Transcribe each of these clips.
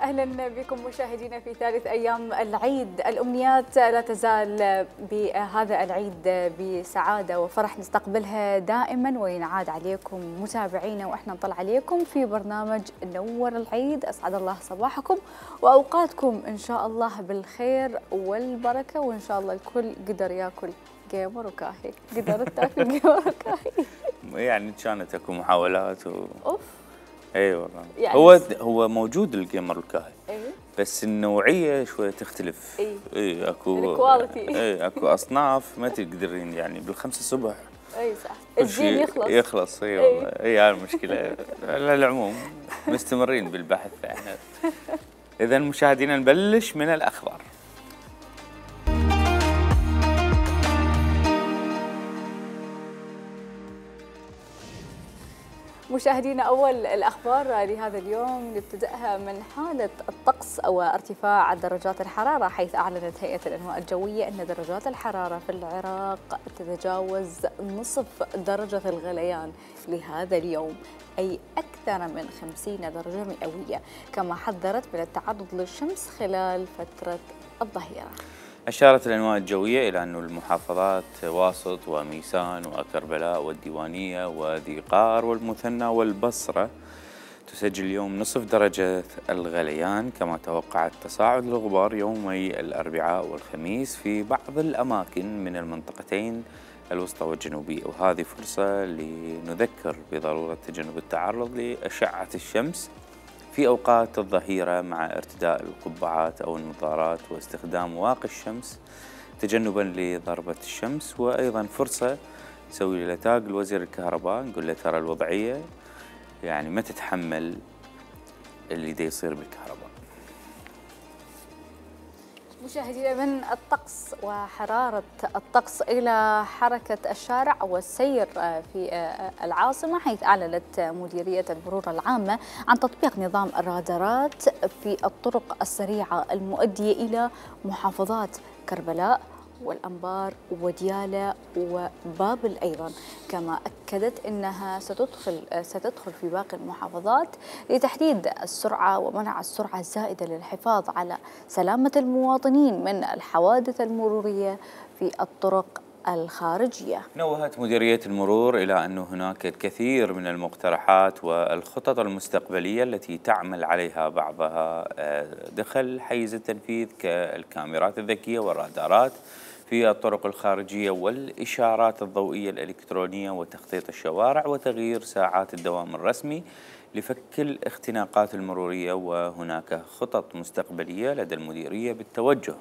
أهلا بكم مشاهدينا في ثالث أيام العيد. الأمنيات لا تزال بهذا العيد بسعادة وفرح نستقبلها دائما، وينعاد عليكم متابعينا وإحنا نطلع عليكم في برنامج نور العيد. أسعد الله صباحكم وأوقاتكم إن شاء الله بالخير والبركة، وإن شاء الله الكل قدر ياكل جيمر وكاهي. قدرت تاكل جيمر وكاهي؟ يعني كانت اكو محاولات اوف. اي والله يعني هو موجود الجيمر الكاهي، بس النوعيه شويه تختلف. اي اكو الكواليتي. اكو اصناف ما تقدرين يعني بالخمسة الصبح. اي صح، الزين يخلص. اي والله هي المشكله. على العموم مستمرين بالبحث احنا. اذا مشاهدينا نبلش من الاخبار. مشاهدينا، أول الأخبار لهذا اليوم نبتدأها من حالة الطقس أو ارتفاع درجات الحرارة، حيث أعلنت هيئة الأنواع الجوية أن درجات الحرارة في العراق تتجاوز نصف درجة الغليان لهذا اليوم، أي أكثر من 50 درجة مئوية، كما حذرت من التعرض للشمس خلال فترة الظهيرة. أشارت الأنواع الجوية إلى أن المحافظات واسط وميسان وكربلاء والديوانية وذي قار والمثنى والبصرة تسجل اليوم نصف درجة الغليان، كما توقعت تصاعد الغبار يومي الأربعاء والخميس في بعض الأماكن من المنطقتين الوسطى والجنوبية، وهذه فرصة لنذكر بضرورة تجنب التعرض لأشعة الشمس في أوقات الظهيرة مع ارتداء القبعات أو النظارات واستخدام واقي الشمس تجنباً لضربة الشمس. وأيضاً فرصة نسوي له تاج لوزير الكهرباء، نقول له ترى الوضعية يعني ما تتحمل اللي دا يصير بالكهرباء. مشاهدينا، من الطقس وحرارة الطقس إلى حركة الشارع والسير في العاصمة، حيث أعلنت مديرية المرور العامة عن تطبيق نظام الرادارات في الطرق السريعة المؤدية إلى محافظات كربلاء والأنبار وديالى وبابل أيضا، كما أكدت أنها ستدخل في باقي المحافظات لتحديد السرعة ومنع السرعة الزائدة للحفاظ على سلامة المواطنين من الحوادث المرورية في الطرق الخارجية. نوهت مديرية المرور إلى أن هناك الكثير من المقترحات والخطط المستقبلية التي تعمل عليها بعضها دخل حيز التنفيذ كالكاميرات الذكية والرادارات في الطرق الخارجية والإشارات الضوئية الإلكترونية وتخطيط الشوارع وتغيير ساعات الدوام الرسمي لفك الاختناقات المرورية. وهناك خطط مستقبلية لدى المديرية بالتوجه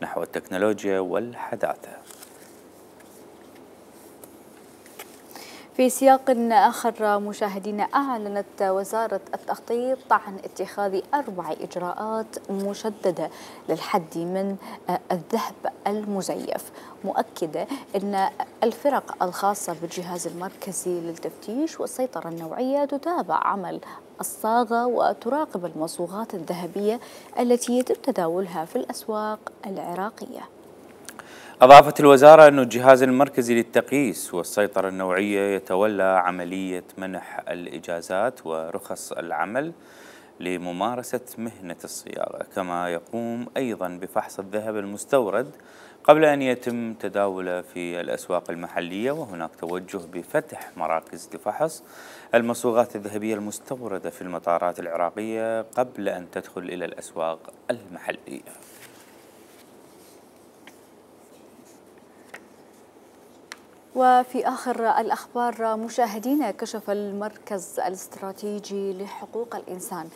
نحو التكنولوجيا والحداثة. في سياق آخر مشاهدينا، أعلنت وزارة التخطيط عن اتخاذ 4 إجراءات مشددة للحد من الذهب المزيف، مؤكدة أن الفرق الخاصة بالجهاز المركزي للتفتيش والسيطرة النوعية تتابع عمل الصاغة وتراقب المصوغات الذهبية التي يتم تداولها في الأسواق العراقية. أضافت الوزارة أن الجهاز المركزي للتقييس والسيطرة النوعية يتولى عملية منح الإجازات ورخص العمل لممارسة مهنة الصياغة، كما يقوم أيضاً بفحص الذهب المستورد قبل أن يتم تداوله في الأسواق المحلية. وهناك توجه بفتح مراكز لفحص المصوغات الذهبية المستوردة في المطارات العراقية قبل أن تدخل إلى الأسواق المحلية. وفي آخر الأخبار مشاهدينا، كشف المركز الاستراتيجي لحقوق الإنسان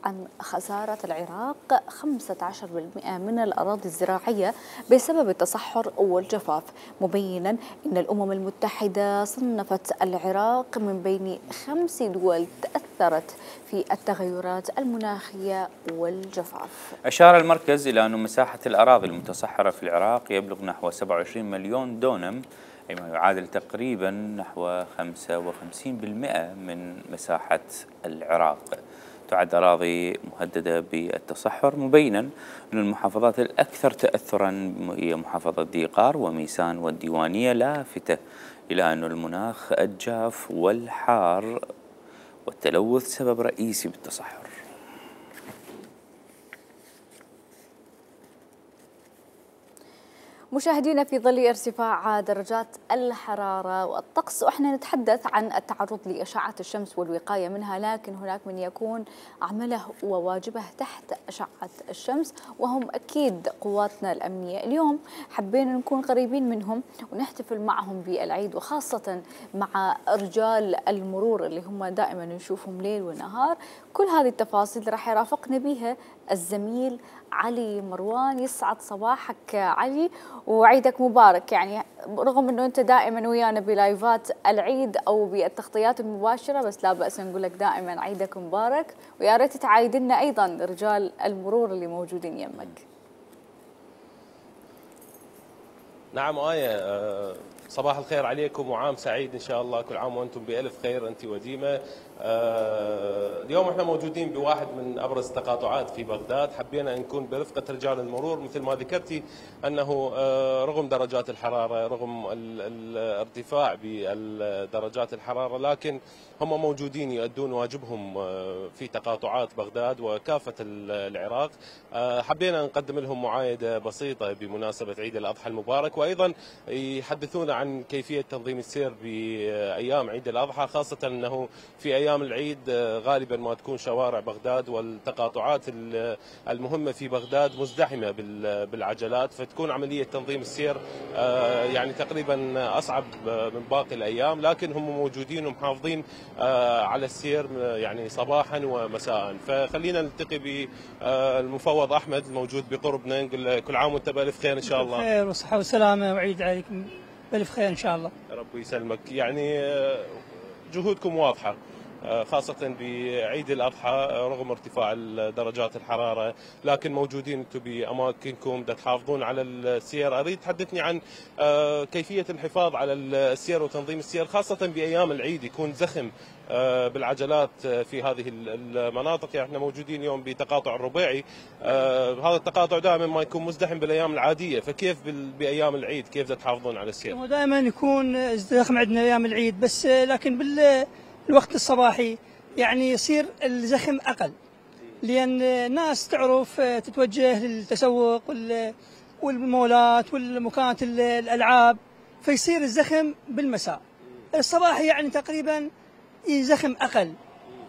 عن خسارة العراق 15% من الأراضي الزراعية بسبب التصحر والجفاف، مبينا أن الأمم المتحدة صنفت العراق من بين 5 دول تأثرت في التغيرات المناخية والجفاف. أشار المركز إلى أن مساحة الأراضي المتصحرة في العراق يبلغ نحو 27 مليون دونم، أي ما يعادل تقريبا نحو 55% من مساحة العراق. تعد أراضي مهددة بالتصحر، مبينا أن المحافظات الأكثر تأثرا هي محافظة ذي قار وميسان والديوانية، لافتة إلى أن المناخ الجاف والحار والتلوث سبب رئيسي بالتصحر. مشاهدينا، في ظل ارتفاع درجات الحرارة والطقس وإحنا نتحدث عن التعرض لأشعة الشمس والوقاية منها، لكن هناك من يكون عمله وواجبه تحت أشعة الشمس وهم أكيد قواتنا الأمنية. اليوم حبينا نكون قريبين منهم ونحتفل معهم بالعيد، وخاصة مع رجال المرور اللي هم دائما نشوفهم ليل ونهار. كل هذه التفاصيل راح يرافقنا بها الزميل علي مروان. يسعد صباحك علي وعيدك مبارك. يعني رغم انه انت دائما ويانا بلايفات العيد او بالتغطيات المباشره، بس لا باس نقول لك دائما عيدك مبارك، ويا ريت تعايد لنا ايضا رجال المرور اللي موجودين يمك. نعم آية، صباح الخير عليكم وعام سعيد إن شاء الله. كل عام وأنتم بألف خير أنت وديمة. اليوم احنا موجودين بواحد من أبرز التقاطعات في بغداد. حبينا أن نكون برفقة رجال المرور مثل ما ذكرتي أنه رغم درجات الحرارة، رغم الارتفاع بدرجات الحرارة، لكن هم موجودين يؤدون واجبهم في تقاطعات بغداد وكافة العراق. حبينا نقدم لهم معايدة بسيطة بمناسبة عيد الأضحى المبارك، وأيضا يحدثونا عن كيفية تنظيم السير بأيام عيد الأضحى، خاصة أنه في أيام العيد غالبا ما تكون شوارع بغداد والتقاطعات المهمة في بغداد مزدحمة بالعجلات، فتكون عملية تنظيم السير يعني تقريبا أصعب من باقي الأيام، لكن هم موجودين ومحافظين على السير يعني صباحا ومساء. فخلينا نلتقي بالمفوض أحمد الموجود بقربنا، نقول كل عام وأنت بألف خير إن شاء الله. خير وصحة وسلامة وعيد عليكم بألف خير إن شاء الله. ربي يسلمك. يعني جهودكم واضحة خاصة بعيد الأضحى رغم ارتفاع درجات الحرارة، لكن موجودين أنتم بأماكنكم تحافظون على السير. أريد تحدثني عن كيفية الحفاظ على السير وتنظيم السير، خاصة بأيام العيد يكون زخم بالعجلات في هذه المناطق. يعني احنا موجودين اليوم بتقاطع الربيعي، هذا التقاطع دائما ما يكون مزدحم بالايام العاديه، فكيف بايام العيد كيف تحافظون على السير؟ دائما يكون زخم عندنا ايام العيد، بس لكن بالوقت الصباحي يعني يصير الزخم اقل، لان الناس تعرف تتوجه للتسوق والمولات والمكانات الالعاب، فيصير الزخم بالمساء. الصباحي يعني تقريبا زخم اقل،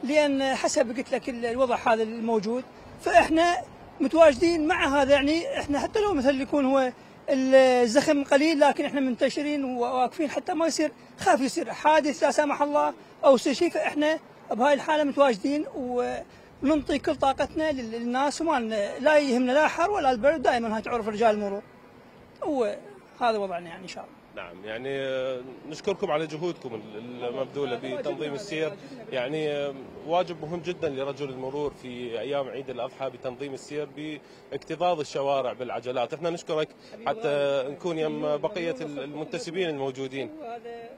لان حسب قلت لك الوضع هذا الموجود، فاحنا متواجدين مع هذا. يعني احنا حتى لو مثلا يكون هو الزخم قليل، لكن احنا منتشرين وواقفين حتى ما يصير خاف يصير حادث لا سمح الله او يصير شيء، فاحنا بهاي الحاله متواجدين وننطي كل طاقتنا للناس، وما لا يهمنا لا حر ولا البرد، دائما هاي تعرف رجال المرور، وهذا وضعنا يعني ان شاء الله. نعم، يعني نشكركم على جهودكم المبذولة بتنظيم السير. يعني واجب مهم جدا لرجل المرور في أيام عيد الأضحى بتنظيم السير باكتظاظ الشوارع بالعجلات. احنا نشكرك حتى نكون يم بقية المنتسبين الموجودين. وهذا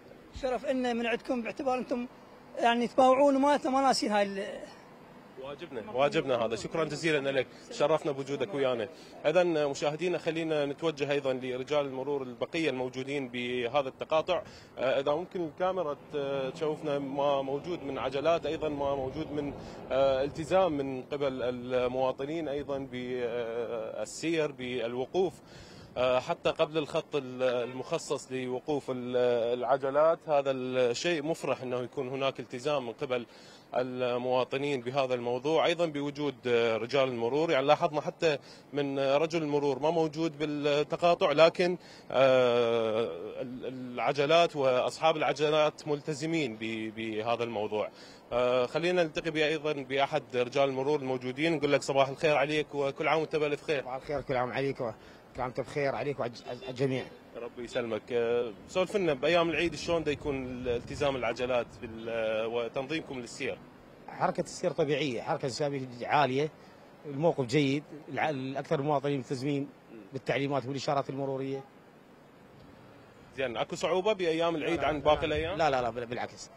شرف لنا من عندكم، باعتبار انتم يعني تباوعون وما ناسين هاي واجبنا هذا. شكرا جزيلا لك، شرفنا بوجودك ويانا. اذا مشاهدينا خلينا نتوجه ايضا لرجال المرور البقيه الموجودين بهذا التقاطع. اذا ممكن الكاميرا تشوفنا ما موجود من عجلات، ايضا ما موجود من التزام من قبل المواطنين ايضا بالسير بالوقوف حتى قبل الخط المخصص لوقوف العجلات. هذا الشيء مفرح انه يكون هناك التزام من قبل المواطنين بهذا الموضوع، ايضا بوجود رجال المرور. يعني لاحظنا حتى من رجل المرور ما موجود بالتقاطع، لكن العجلات واصحاب العجلات ملتزمين بهذا الموضوع. خلينا نلتقي ايضا باحد رجال المرور الموجودين، نقول لك صباح الخير عليك وكل عام وانت بالف خير. صباح الخير، كل عام عليك وكل عام وانت بخير عليك وعلى الجميع. ربي يسلمك. سولف لنا بايام العيد شلون دا يكون التزام العجلات وتنظيمكم للسير؟ حركه السير طبيعيه، حركه سيابيه عاليه، الموقف جيد، الاكثر المواطنين ملتزمين بالتعليمات والاشارات المروريه. زين، اكو صعوبه بايام العيد عن باقي الايام؟ لا بالعكس.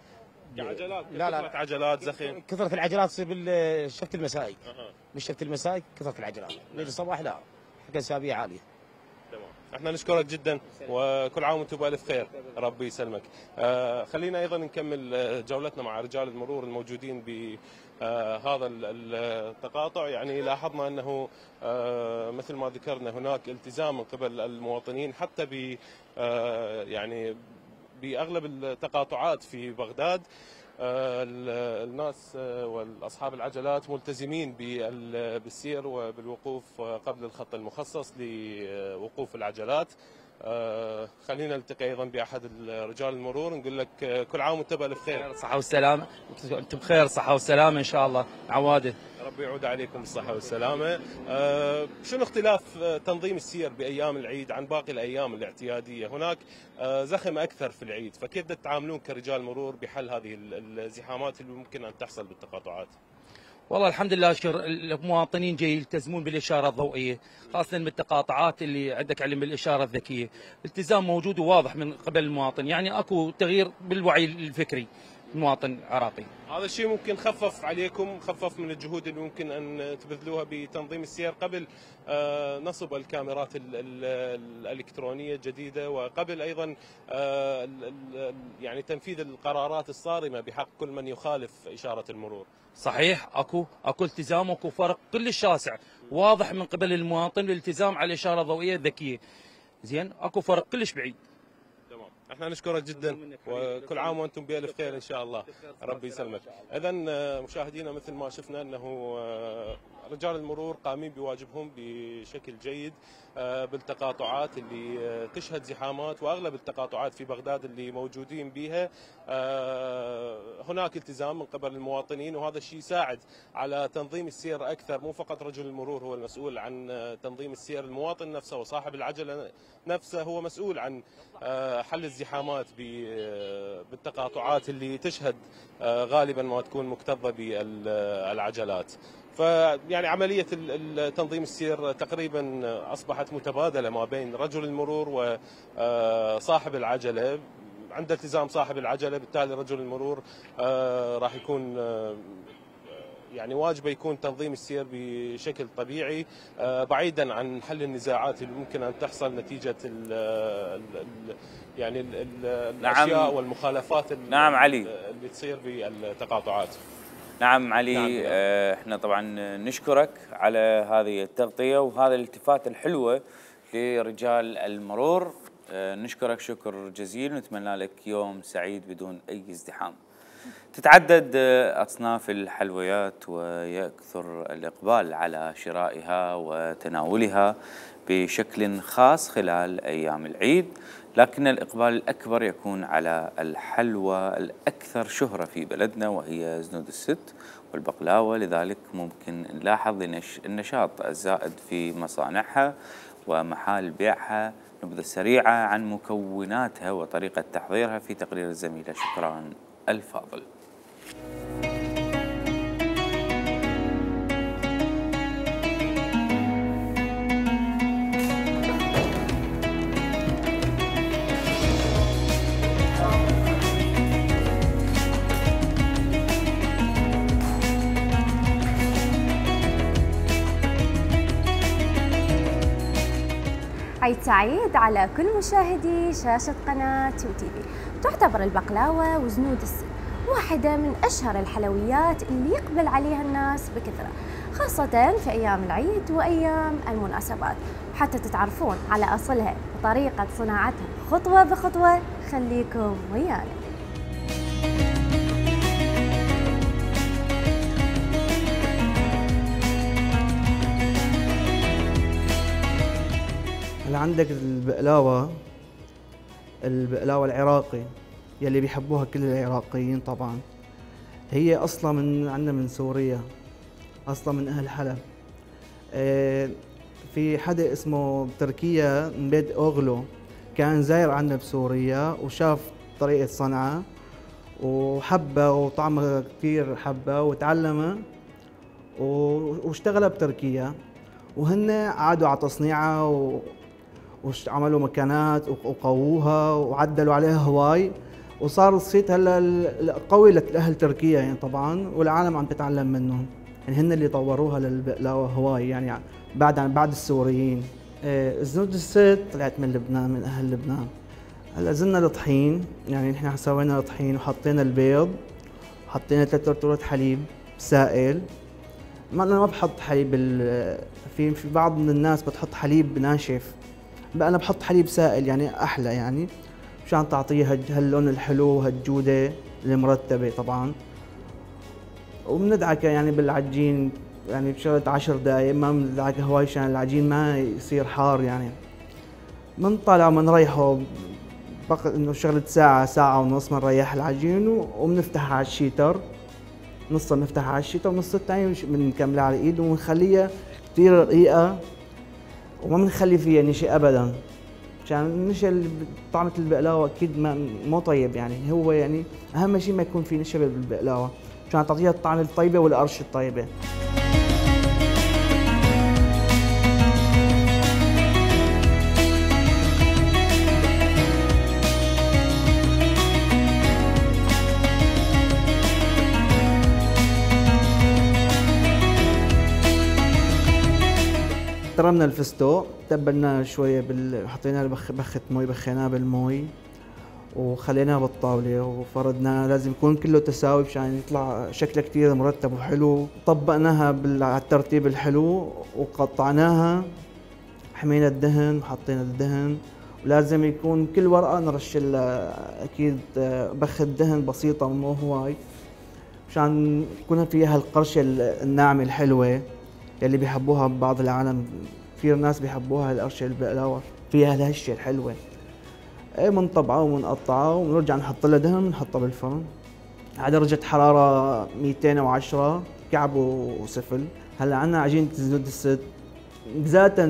عجلات، كثرة عجلات زخم. كثرة العجلات تصير بالشفت المسائي. بالشفت المسائي كثرة العجلات، ليل الصباح لا، حركه سيابيه عاليه. تمام. احنا نشكرك جدا وكل عام وانتم بالف خير. ربي يسلمك. خلينا ايضا نكمل جولتنا مع رجال المرور الموجودين بهذا التقاطع. يعني لاحظنا انه مثل ما ذكرنا هناك التزام من قبل المواطنين حتى ب يعني باغلب التقاطعات في بغداد. الناس واصحاب العجلات ملتزمين بالسير وبالوقوف قبل الخط المخصص لوقوف العجلات. خلينا نلتقي ايضا باحد رجال المرور نقول لك كل عام وانت بالف خير. صحة والسلامة. انتم بخير صحة والسلامة ان شاء الله. عواده. ربي يعود عليكم بالصحة والسلامة. شنو اختلاف تنظيم السير بأيام العيد عن باقي الأيام الاعتيادية؟ هناك زخم أكثر في العيد، فكيف تتعاملون كرجال مرور بحل هذه الزحامات اللي ممكن أن تحصل بالتقاطعات؟ والله الحمد لله المواطنين جاي يلتزمون بالإشارة الضوئية، خاصة بالتقاطعات اللي عندك علم بالإشارة الذكية، التزام موجود وواضح من قبل المواطن، يعني اكو تغيير بالوعي الفكري المواطن العراقي. هذا الشيء ممكن خفف عليكم، خفف من الجهود اللي ممكن ان تبذلوها بتنظيم السير قبل نصب الكاميرات الالكترونيه الجديده، وقبل ايضا يعني تنفيذ القرارات الصارمه بحق كل من يخالف اشاره المرور. صحيح، اكو التزام، اكو فرق كلش شاسع واضح من قبل المواطن الالتزام على الاشاره الضوئيه الذكيه. زين، اكو فرق كلش بعيد. احنا نشكرك جدا وكل عام وانتم بالف خير ان شاء الله. ربي يسلمك. اذا مشاهدينا مثل ما شفنا انه رجال المرور قامين بواجبهم بشكل جيد بالتقاطعات اللي تشهد زحامات، واغلب التقاطعات في بغداد اللي موجودين بها هناك التزام من قبل المواطنين، وهذا الشيء يساعد على تنظيم السير اكثر. مو فقط رجل المرور هو المسؤول عن تنظيم السير، المواطن نفسه وصاحب العجله نفسه هو مسؤول عن حل الزحامات بالتقاطعات اللي تشهد غالبا ما تكون مكتظه بالعجلات. فيعني عمليه تنظيم السير تقريبا اصبحت متبادله ما بين رجل المرور وصاحب العجله. عند التزام صاحب العجله بالتالي رجل المرور راح يكون يعني واجبه يكون تنظيم السير بشكل طبيعي بعيدا عن حل النزاعات اللي ممكن ان تحصل نتيجه يعني الاشياء والمخالفات نعم علي اللي تصير في التقاطعات. نعم علي. احنا طبعا نشكرك على هذه التغطيه وهذه الالتفات الحلوه لرجال المرور. نشكرك شكر جزيل ونتمنى لك يوم سعيد بدون اي ازدحام. تتعدد أصناف الحلويات ويكثر الإقبال على شرائها وتناولها بشكل خاص خلال أيام العيد، لكن الإقبال الأكبر يكون على الحلوى الأكثر شهرة في بلدنا وهي زنود الست والبقلاوة. لذلك ممكن نلاحظ النشاط الزائد في مصانعها ومحال بيعها. نبذة سريعة عن مكوناتها وطريقة تحضيرها في تقرير الزميلة شكران الفاضل. عيد سعيد على كل مشاهدي شاشة قناة يوتيفي. تعتبر البقلاوة وزنود الست واحدة من أشهر الحلويات اللي يقبل عليها الناس بكثرة، خاصة في أيام العيد وأيام المناسبات. حتى تتعرفون على أصلها وطريقة صناعتها خطوة بخطوة، خليكم ويانا. هلا عندك البقلاوة العراقي يلي بيحبوها كل العراقيين طبعا. هي اصلا عندنا من سوريا، اصلا من اهل حلب. في حدا اسمه بتركيا من بيت اوغلو كان زاير عندنا بسوريا وشاف طريقة صنعها وحبها وطعمها كثير حبها وتعلمها واشتغلها بتركيا، وهن عادوا على تصنيعها وعملوا مكانات وقووها وعدلوا عليها هواي، وصار الصيت هلا قوي لاهل تركيا يعني طبعا، والعالم عم تتعلم منهم. يعني هن اللي طوروها للبقلاوه هواي يعني بعد السوريين. زنود الست طلعت من لبنان، من اهل لبنان. هلا زلنا الطحين، يعني نحن سوينا الطحين وحطينا البيض، حطينا 3 رطورة حليب سائل. انا ما بحط حليب في بعض من الناس بتحط حليب ناشف، بقى انا بحط حليب سائل يعني احلى، يعني مشان تعطيه هاللون الحلو وهالجوده المرتبه طبعا. وبندعكه يعني بالعجين يعني بشغله 10 دقائق، ما بندعكه هواي عشان العجين ما يصير حار يعني. بنطلع وبنريحه بقى انه شغله ساعه ساعه ونص بنريح العجين وبنفتحها على الشيتر، نصها بنفتحها على الشيتر ونص الثاني بنكملها على الايد وبنخليها كثير رقيقه وما بنخلي فيها نشا ابدا، عشان النشا طعمه البقلاوه اكيد مو طيب يعني. هو يعني اهم شيء ما يكون في نشا بالبقلاوه عشان تعطيها الطعم الطيبه والقرش الطيبه. احترمنا الفستق، تبلناه شويه حطينا بخه مي، بخيناه بالمي وخليناه بالطاوله وفردناه، لازم يكون كله تساوي مشان يطلع شكله كثير مرتب وحلو. طبقناها على الترتيب الحلو وقطعناها، حمينا الدهن وحطينا الدهن، ولازم يكون كل ورقه نرش اكيد بخه دهن بسيطه مو هواي مشان يكون فيها القرشه الناعمه الحلوه اللي بيحبوها ببعض العالم. كثير ناس بيحبوها القرشه البقلاوه فيها الهشه الحلوه. بنطبعها وبنقطعها وبنرجع نحط لها دهن ونحطها بالفرن على درجه حراره 210 كعب وسفل. هلا عندنا عجينه زنود الست ذات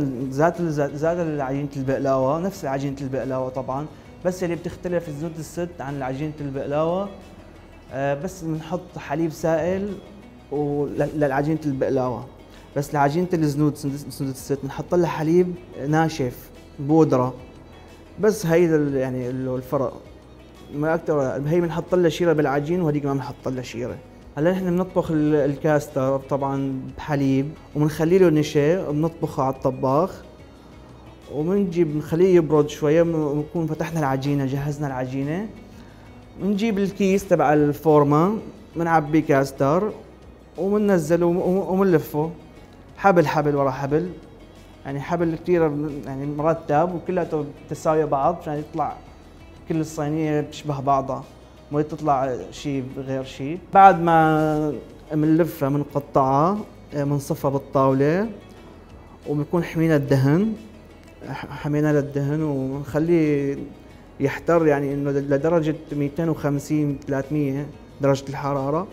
عجينه البقلاوه، نفس عجينه البقلاوه طبعا، بس اللي بتختلف زنود الست عن عجينه البقلاوه بس بنحط حليب سائل لعجينه البقلاوه، بس لعجينه زنود الست بنحط لها حليب ناشف بودره بس. هي يعني الفرق ما اكثر. هي بنحط لها شيره بالعجين وهذيك ما بنحط لها شيره. هلا نحن بنطبخ الكاستر طبعا بحليب وبنخلي له نشا وبنطبخه على الطباخ وبنجيب بنخليه يبرد شويه، بنكون فتحنا العجينه جهزنا العجينه، بنجيب الكيس تبع الفورمه بنعبي كاستر وبننزله وبنلفه حبل ورا حبل، يعني حبل كثير يعني مرتب وكلها تساوي بعض عشان يطلع كل الصينيه بتشبه بعضها، ما تطلع شيء غير شيء. بعد ما بنلفها بنقطعها بنصفها بالطاوله وبنكون حمينا الدهن، حمينا للدهن وبنخليه يحتر يعني انه لدرجه 250 300 درجه الحراره،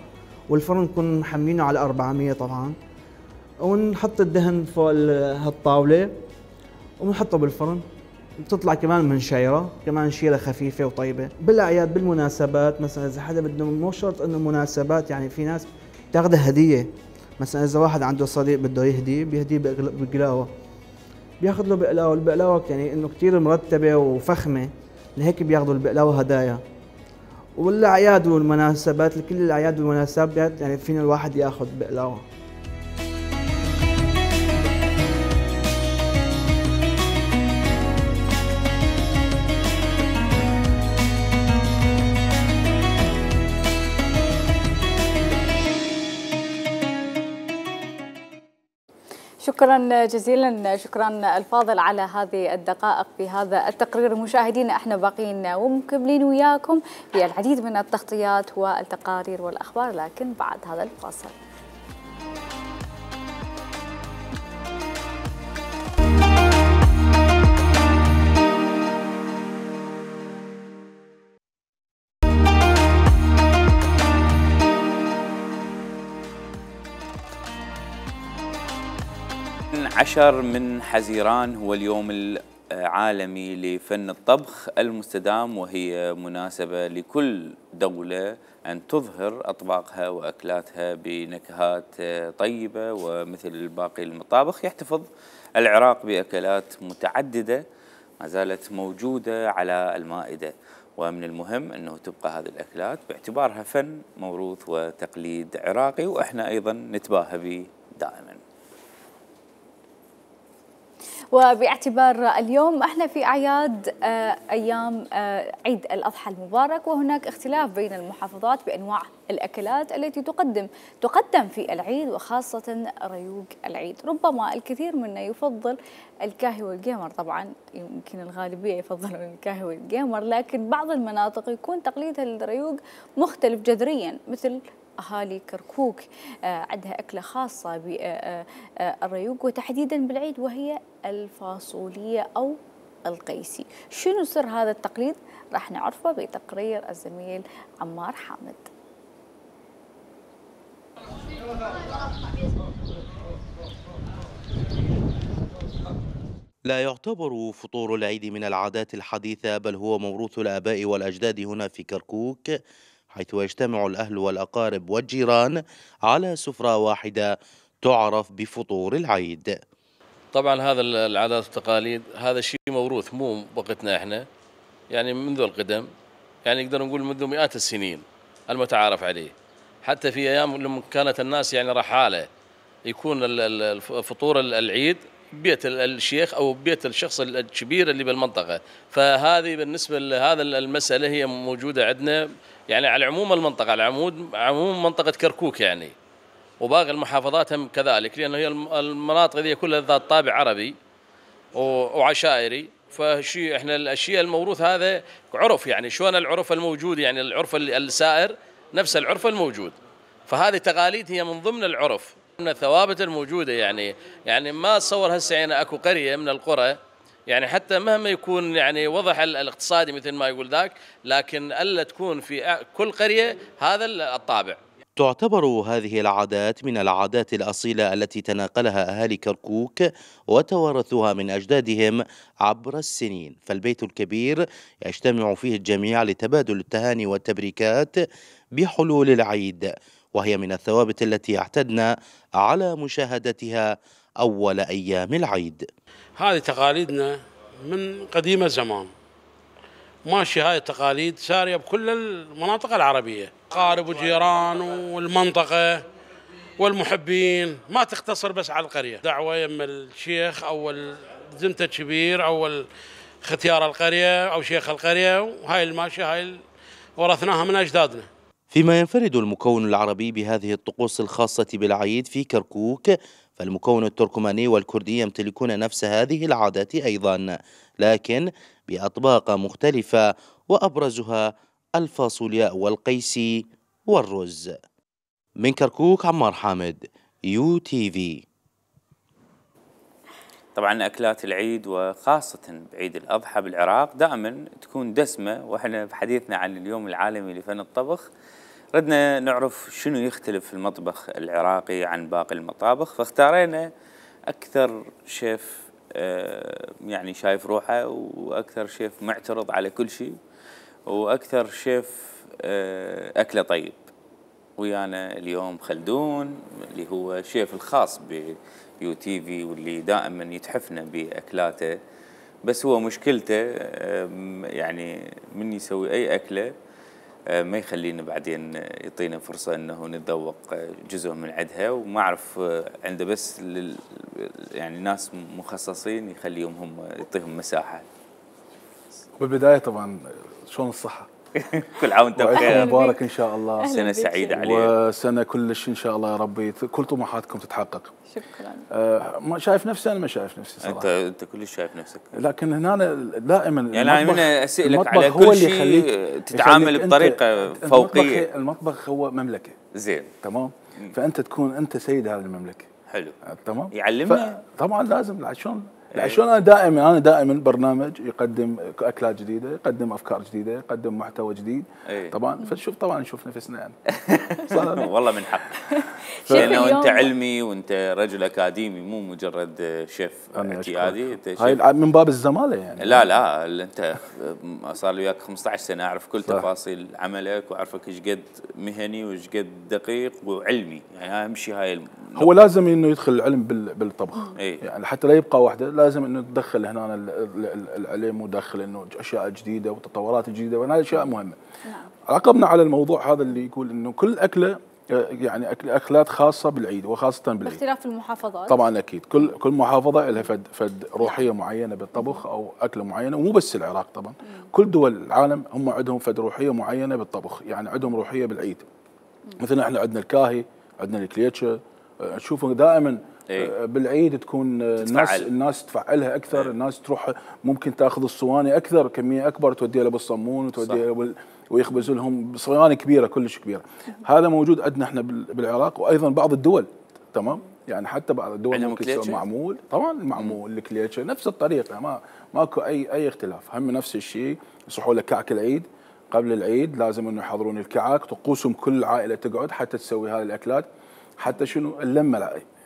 والفرن نكون محمينه على 400 طبعا، ونحط الدهن فوق هالطاوله وبنحطه بالفرن. بتطلع كمان من شيره، كمان شيره خفيفه وطيبه. بالاعياد بالمناسبات مثلا اذا حدا بده، مو شرط انه مناسبات، يعني في ناس بتاخذها هديه، مثلا اذا واحد عنده صديق بده يهدي بيهديه بقلاوه، بياخذ له بقلاوه. البقلاوه يعني انه كثير مرتبه وفخمه لهيك بياخذوا البقلاوه هدايا. والاعياد والمناسبات، لكل الاعياد والمناسبات يعني فينا الواحد ياخذ بقلاوه. شكرا جزيلا، شكرا الفاضل على هذه الدقائق في هذا التقرير. مشاهدينا احنا باقيين ومكملين وياكم في العديد من التغطيات والتقارير والاخبار، لكن بعد هذا الفاصل. عشر من حزيران هو اليوم العالمي لفن الطبخ المستدام، وهي مناسبة لكل دولة أن تظهر أطباقها وأكلاتها بنكهات طيبة، ومثل باقي المطابخ يحتفظ العراق بأكلات متعددة ما زالت موجودة على المائدة، ومن المهم أنه تبقى هذه الأكلات باعتبارها فن موروث وتقليد عراقي، وإحنا أيضا نتباهى به دائما. وباعتبار اليوم احنا في اعياد ايام عيد الاضحى المبارك، وهناك اختلاف بين المحافظات بانواع الاكلات التي تقدم في العيد، وخاصه ريوق العيد. ربما الكثير منا يفضل الكاهي والقيمر، طبعا يمكن الغالبيه يفضلون الكاهي والقيمر، لكن بعض المناطق يكون تقليد الريوق مختلف جذريا، مثل أهالي كركوك عندها أكلة خاصة بالريوق وتحديدا بالعيد، وهي الفاصولية أو القيسي. شنو سر هذا التقليد؟ راح نعرفه بتقرير الزميل عمار حامد. لا يعتبر فطور العيد من العادات الحديثة، بل هو موروث الآباء والأجداد هنا في كركوك، حيث يجتمع الأهل والأقارب والجيران على سفرة واحدة تعرف بفطور العيد. طبعا هذا العادات والتقاليد هذا شيء موروث، مو وقتنا احنا، يعني منذ القدم، يعني نقدر نقول منذ مئات السنين المتعارف عليه. حتى في ايام لما كانت الناس يعني رحاله يكون فطور العيد بيت الشيخ او بيت الشخص الكبير اللي بالمنطقه، فهذه بالنسبه لهذا المساله هي موجوده عندنا يعني على عموم المنطقه، على عموم منطقه كركوك يعني، وباقي المحافظات هم كذلك، لانه هي المناطق ذي كلها ذات طابع عربي وعشائري. فشيء احنا الاشياء الموروث هذا عرف، يعني شلون العرف الموجود، يعني العرف السائر نفس العرف الموجود، فهذه تقاليد هي من ضمن العرف، من الثوابت الموجوده. يعني ما اتصور هسه يعني اكو قريه من القرى يعني حتى مهما يكون يعني وضع الاقتصادي مثل ما يقول ذاك، لكن الا تكون في كل قريه هذا الطابع. تعتبر هذه العادات من العادات الأصيلة التي تناقلها أهالي كركوك وتوارثوها من أجدادهم عبر السنين، فالبيت الكبير يجتمع فيه الجميع لتبادل التهاني والتبريكات بحلول العيد، وهي من الثوابت التي اعتدنا على مشاهدتها أول أيام العيد. هذه تقاليدنا من قديم الزمان، ماشي هاي التقاليد سارية بكل المناطق العربية، قارب وجيران والمنطقة والمحبين، ما تختصر بس على القرية. دعوة يم الشيخ أو زمته الكبير أو ختيار القرية أو شيخ القرية، وهاي الماشية هاي ورثناها من أجدادنا. فيما ينفرد المكون العربي بهذه الطقوس الخاصة بالعيد في كركوك، فالمكون التركماني والكردي يمتلكون نفس هذه العادات أيضا، لكن بأطباق مختلفة، وأبرزها الفاصولياء والقيسي والرز. من كركوك عمار حامد، UTV. طبعا أكلات العيد وخاصة بعيد الأضحى بالعراق دائما تكون دسمة، وإحنا بحديثنا عن اليوم العالمي لفن الطبخ ردنا نعرف شنو يختلف المطبخ العراقي عن باقي المطابخ، فاختارينا أكثر شيف يعني شايف روحه، وأكثر شيف معترض على كل شيء، وأكثر شيف أكله طيب. ويانا اليوم خلدون اللي هو شيف الخاص بUTV، واللي دائما يتحفنا بأكلاته، بس هو مشكلته يعني من يسوي أي أكلة ما يخلينا بعدين يعطينا فرصة أنه نتذوق جزء من عندها، وما أعرف عنده بس يعني ناس مخصصين يخليهم هم يعطيهم مساحة. بالبداية طبعا شلون الصحة؟ كل عام وانت بخير، مبارك ان شاء الله، سنة سعيدة عليك، وسنة كلش ان شاء الله يا ربي كل طموحاتكم تتحقق. شكرا. ما شايف نفسي، انا ما شايف نفسي صراحة. انت كلش شايف نفسك، لكن هنا دائما يعني انا اسالك على كل شيء تتعامل بطريقة فوقية. المطبخ هو مملكة، زين، تمام، فانت تكون انت سيد هذه المملكة. حلو، تمام، يعلمنا طبعا لازم. شلون انا دائما برنامج يقدم اكلات جديده، يقدم افكار جديده، يقدم محتوى جديد. طبعا فنشوف نشوف نفسنا يعني. والله من حق، لانه انت علمي وانت رجل اكاديمي، مو مجرد شيف اعتيادي. هاي من باب الزماله يعني. لا انت صار لي وياك 15 سنه، اعرف كل تفاصيل عملك، واعرفك ايش قد مهني وايش قد دقيق وعلمي، يعني اهم شيء هاي هو لازم انه يدخل العلم بالطبخ. يعني حتى لا يبقى وحده، لازم انه تدخل هنا العلم، ودخل انه اشياء جديده وتطورات جديده، وهذه اشياء مهمه. عقبنا على الموضوع هذا اللي يقول انه كل اكله يعني اكلات خاصه بالعيد وخاصه بالعيد باختلاف المحافظات طبعا اكيد كل محافظه لها فد روحيه معينه بالطبخ او اكله معينه، ومو بس العراق طبعا كل دول العالم هم عندهم فد روحيه معينه بالطبخ، يعني عندهم روحيه بالعيد. مثلا احنا عندنا الكاهي، عندنا الكليتشه، تشوفوا دائما بالعيد تكون الناس تفعلها اكثر، الناس تروح ممكن تاخذ الصواني اكثر كميه اكبر توديها له بالصمون وتوديها ويخبزوا لهم صواني كبيره كلش كبيره. هذا موجود عندنا احنا بالعراق، وايضا بعض الدول تمام، يعني حتى بعض الدول ممكن تسوي معمول، طبعا المعمول الكليتشه نفس الطريقه، ماكو اي اختلاف، هم نفس الشيء. يصحوا لك كعك العيد قبل العيد لازم انه يحضرون الكعك، طقوسهم كل عائله تقعد حتى تسوي هذه الاكلات، حتى شنو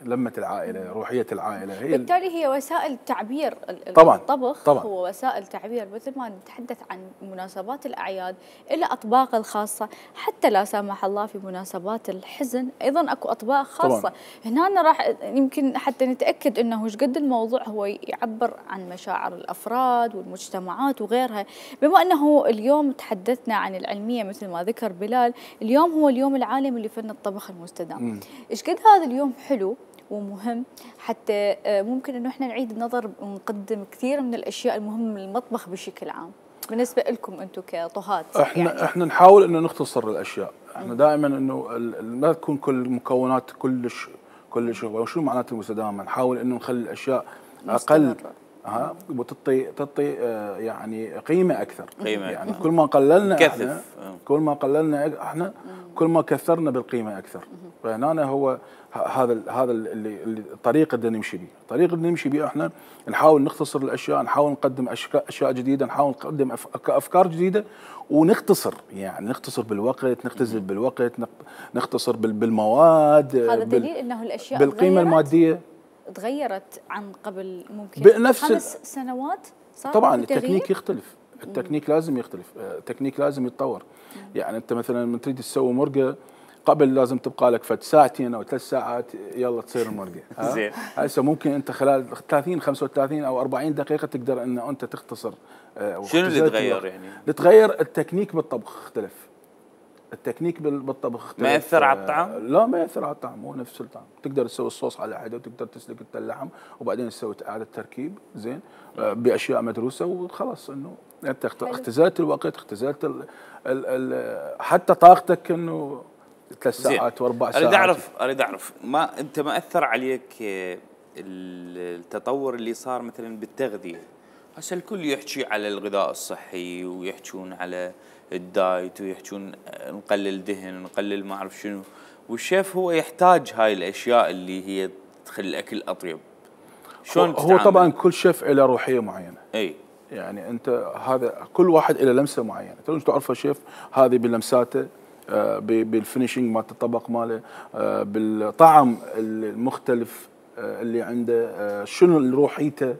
لمة العائلة، روحية العائلة هي بالتالي هي وسائل تعبير. طبعا الطبخ طبعا هو وسائل تعبير، مثل ما نتحدث عن مناسبات الأعياد إلى أطباق الخاصة، حتى لا سامح الله في مناسبات الحزن أيضا أكو أطباق خاصة. طبعا. هنا راح يمكن حتى نتأكد أنه وش قد الموضوع هو يعبر عن مشاعر الأفراد والمجتمعات وغيرها. بما أنه اليوم تحدثنا عن العلمية مثل ما ذكر بلال، اليوم هو اليوم العالمي لفن الطبخ المستدام. إيش قد هذا اليوم حلو ومهم، حتى ممكن انه احنا نعيد النظر ونقدم كثير من الاشياء المهمه للمطبخ بشكل عام. بالنسبه لكم انتم كطهات احنا نحاول انه نختصر الاشياء، احنا دائما انه ما تكون كل المكونات كلش وشو معناته المستدامه، نحاول انه نخلي الاشياء اقل وتعطي يعني قيمه اكثر. يعني كل ما قللنا احنا كل ما كثرنا بالقيمه اكثر. فهنا هو هذا اللي الطريقه اللي نمشي به، الطريقه اللي نمشي به احنا نحاول نختصر الاشياء، نحاول نقدم اشياء جديده، نحاول نقدم افكار جديده، ونختصر، يعني نختصر بالوقت، نختزل بالوقت، نختصر بالمواد. هذا دليل انه الاشياء بالقيمه الماديه تغيرت عن قبل ممكن بنفس 5 سنوات. طبعا التكنيك يختلف، التكنيك لازم يختلف، التكنيك لازم يتطور. يعني انت مثلا من تريد تسوي مرقه قبل لازم تبقى لك فد ساعتين او 3 ساعات يلا تصير المرقه. زين. هسه ممكن انت خلال 30 35 او 40 دقيقه تقدر ان انت تختصر. شنو اللي تغير يعني؟ اللي تغير التكنيك بالطبخ اختلف. التكنيك بالطبخ اختلف. ما ياثر على الطعم؟ لا ما ياثر على الطعم، مو نفس الطعم. تقدر تسوي الصوص على حده، وتقدر تسلق اللحم وبعدين تسوي اعاده تركيب زين باشياء مدروسه وخلاص. انه انت اختزلت الوقت، اختزلت حتى طاقتك انه 3 ساعات و4 ساعات. اريد اعرف ما انت ما اثر عليك التطور اللي صار مثلا بالتغذيه؟ هسه الكل يحكي على الغذاء الصحي ويحكون على الدايت ويحكون نقلل دهن ونقلل ما اعرف شنو، والشيف هو يحتاج هاي الاشياء اللي هي تخلي الاكل اطيب. شلون هو طبعا كل شيف له روحيه معينه. اي يعني انت هذا كل واحد له لمسه معينه، انت تعرف الشيف هذه بلمساته، بالفينيشنج مال الطبق ماله، بالطعم المختلف اللي عنده، شنو روحيته.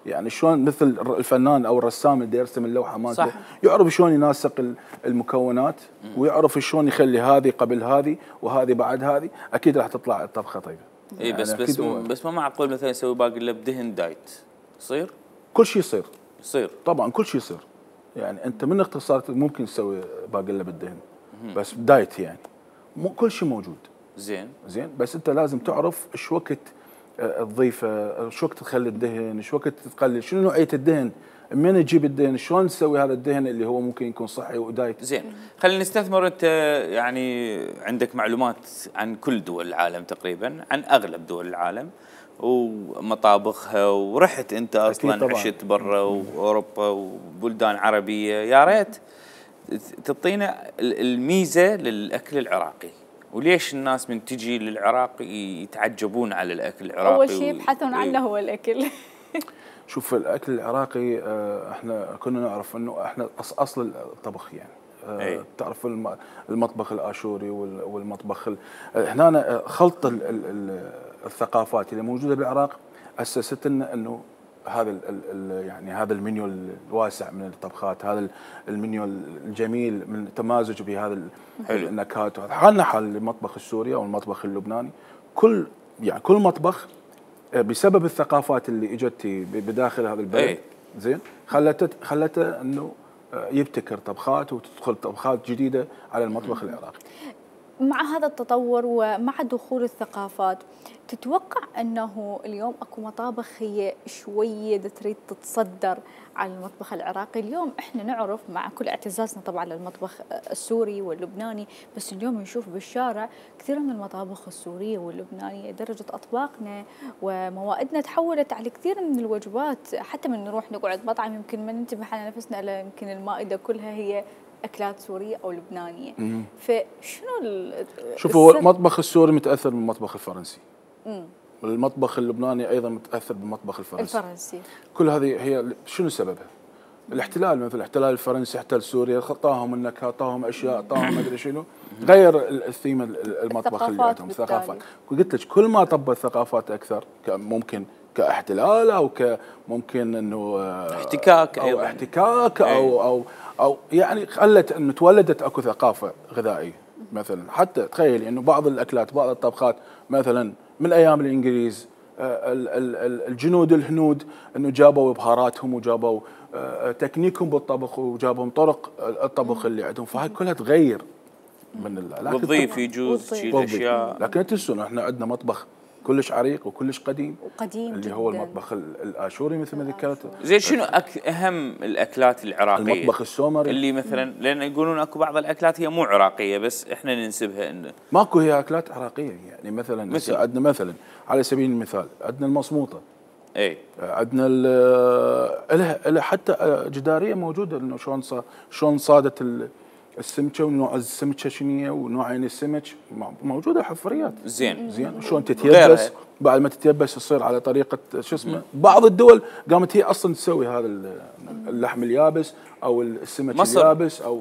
يعني شلون مثل الفنان او الرسام اللي يرسم اللوحه مالته يعرف شلون يناسق المكونات ويعرف شلون يخلي هذه قبل هذه وهذه بعد هذه، اكيد راح تطلع الطبخه طيبه. اي يعني بس ما معقول مثلا يسوي باقي بدهن دايت يصير؟ كل شيء يصير طبعا كل شيء يصير. يعني انت من اختصارك ممكن تسوي باقي بالدهن بس دايت، يعني مو كل شيء موجود. زين بس انت لازم تعرف ايش وقت تضيفه، ايش وقت تخلي الدهن، ايش وقت تقلل، شنو نوعيه الدهن، من تجيب الدهن، شلون تسوي هذا الدهن اللي هو ممكن يكون صحي ودايت. زين خلينا نستثمر. انت يعني عندك معلومات عن كل دول العالم تقريبا، عن اغلب دول العالم ومطابخها، ورحت انت اصلا عشت برا واوروبا وبلدان عربيه، يا ريت تعطينا الميزه للاكل العراقي، وليش الناس من تجي للعراق يتعجبون على الاكل العراقي؟ اول شيء يبحثون عنه هو الاكل. شوف الاكل العراقي احنا كنا نعرف انه احنا اصل الطبخ، يعني تعرف المطبخ الاشوري والمطبخ هنا خلط الثقافات اللي موجوده بالعراق اسست لنا انه هذا يعني هذا المنيو الواسع من الطبخات، هذا المنيو الجميل من التمازج بهذا النكهات. حالنا حال المطبخ السوري او المطبخ اللبناني، كل مطبخ بسبب الثقافات اللي اجت بداخل هذا البلد زين خلته انه يبتكر طبخات وتدخل طبخات جديده على المطبخ العراقي. مع هذا التطور ومع دخول الثقافات، تتوقع أنه اليوم أكو مطابخ هي شوية تريد تتصدر على المطبخ العراقي؟ اليوم إحنا نعرف مع كل اعتزازنا طبعا للمطبخ السوري واللبناني، بس اليوم نشوف بالشارع كثير من المطابخ السورية واللبنانية، درجة أطباقنا وموائدنا تحولت على كثير من الوجبات، حتى من نروح نقعد مطعم يمكن ما ننتبه على نفسنا إلا يمكن المائدة كلها هي أكلات سورية أو لبنانية. فشنو شوفوا هو المطبخ السوري متأثر بالمطبخ الفرنسي. المطبخ اللبناني أيضا متأثر بالمطبخ الفرنسي. كل هذه هي شنو سببها؟ الاحتلال، مثل الاحتلال الفرنسي احتل سوريا، خطاهم النكهة، اعطاهم اشياء، اعطاهم ما ادري شنو، غير الثيم المطبخ اللي عندهم ثقافات. قلت لك كل ما طبت ثقافات اكثر ممكن كاحتلال او كممكن انه احتكاك او احتكاك او يعني خلت انه تولدت اكو ثقافه غذائيه. مثلا حتى تخيلي انه بعض الاكلات بعض الطبخات مثلا من ايام الانجليز الجنود الهنود انه جابوا بهاراتهم وجابوا تكنيكهم بالطبخ وجابوا طرق الطبخ اللي عندهم، فهاي كلها تغير من وتضيف يجوز تشيل اشياء. لكن تنسون احنا عندنا مطبخ كلش عريق وكلش قديم اللي جداً. هو المطبخ الاشوري مثل ما ذكرت. زين شنو اهم الاكلات العراقيه؟ المطبخ السومري اللي مثلا لان يقولون اكو بعض الاكلات هي مو عراقيه بس احنا ننسبها انه ماكو هي اكلات عراقيه، يعني مثلا عندنا مثلا على سبيل المثال عندنا المصموطه، عندنا لها حتى جداريه موجوده انه شلون صادت السمكه ونوع السمكه شنو ونوعين السمك موجوده حفريات. زين شلون تتيبس، بعد ما تتيبس تصير على طريقه شو اسمه. بعض الدول قامت هي اصلا تسوي هذا اللحم اليابس او السمك اليابس او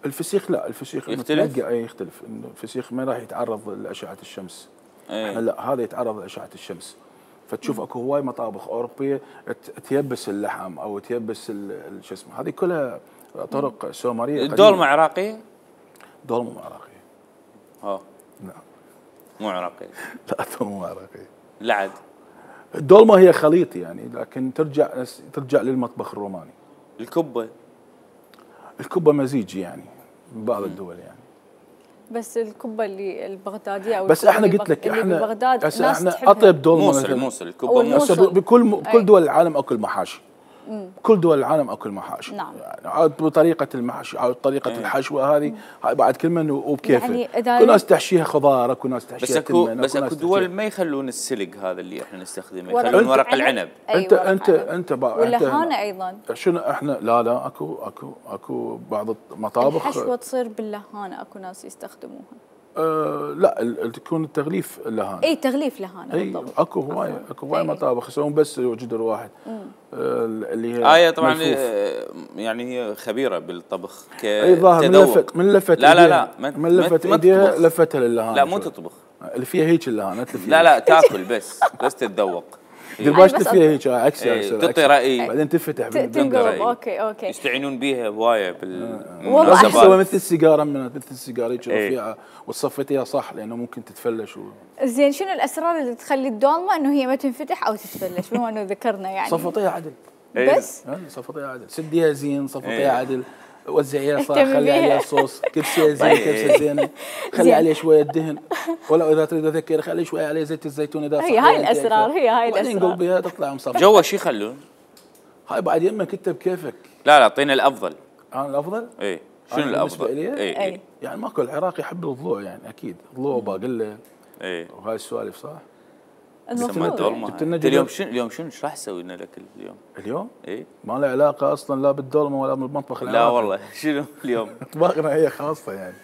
الفسيخ لا الفسيخ يختلف. يختلف انه الفسيخ ما راح يتعرض لاشعه الشمس. احنا لا هذا يتعرض لاشعه الشمس. فتشوف اكو هواي مطابخ اوروبيه تيبس اللحم او تيبس شو اسمه. هذه كلها طرق سومريه. الدولمه عراقيه؟ دولمه مو عراقيه. لا مو عراقيه. لا الدولمه مو عراقيه. لا عاد الدولمه هي خليط يعني، لكن ترجع للمطبخ الروماني. الكبه مزيج يعني من بعض الدول يعني. بس الكبه اللي البغداديه او بس احنا قلت لك احنا بغداد احنا اطيب دولمه موصل الكبه موصل. بكل دول العالم اكل محاشي. كل دول العالم اكل محاشي. نعم. يعني بطريقه المحشي او طريقه الحشوه هذه بعد كل من وبكيفه. يعني كل ناس تحشيها خضار، اكو ناس تحشيها تمن. بس اكو دول ما يخلون السلق هذا اللي احنا نستخدمه، يخلون ورق العنب. انت واللهانه ايضا. شنو احنا لا اكو بعض المطابخ الحشوه تصير باللهانه، اكو ناس يستخدموها. لا تكون التغليف لهانه. تغليف لهانه بالضبط. اكو هواي مطابخ يسوون بس جدر واحد. اللي هي طبعا يعني هي خبيره بالطبخ كتذوق. من لفت لا من لفت ايديها لفتها للهانه. لا مو تطبخ، اللي فيها هيك اللهانه لا تاكل بس تتذوق. دير فيها هيك عكس تعطي راي بعدين تفتح تنقلب. اوكي يستعينون بيها هوايه والله تسوي مثل السيجاره مثل السيجاره هيك رفيعه وتصفيتيها صح لانه ممكن تتفلش زين شنو الاسرار اللي تخلي الدولمه انه هي ما تنفتح او تتفلش بما انه ذكرنا يعني؟ صفطيها عدل بس صفطيها عدل، سديها زين، صفطيها عدل، وزعيها صح، خلي عليها صوص، كبسه زين كبسه زينه، خلي عليها شويه دهن، ولا اذا تريد تذكر خلي شويه عليه زيت الزيتون اذا هي هاي الاسرار. بعدين قل بها تطلع مصفى. جوا شو يخلون؟ هاي بعد يمك انت بكيفك. لا اعطينا الافضل. انا الافضل؟ شنو الافضل؟ يعني ماكو العراقي يحب الضلوع يعني اكيد، ضلوع وباقله. وهاي السوالف صح؟ اليوم شنو ايش راح تسوي لنا الاكل اليوم؟ ما له علاقه اصلا لا بالدولمه ولا بالمطبخ العراقي. لا والله شنو اليوم؟ اطباقنا هي خاصه يعني.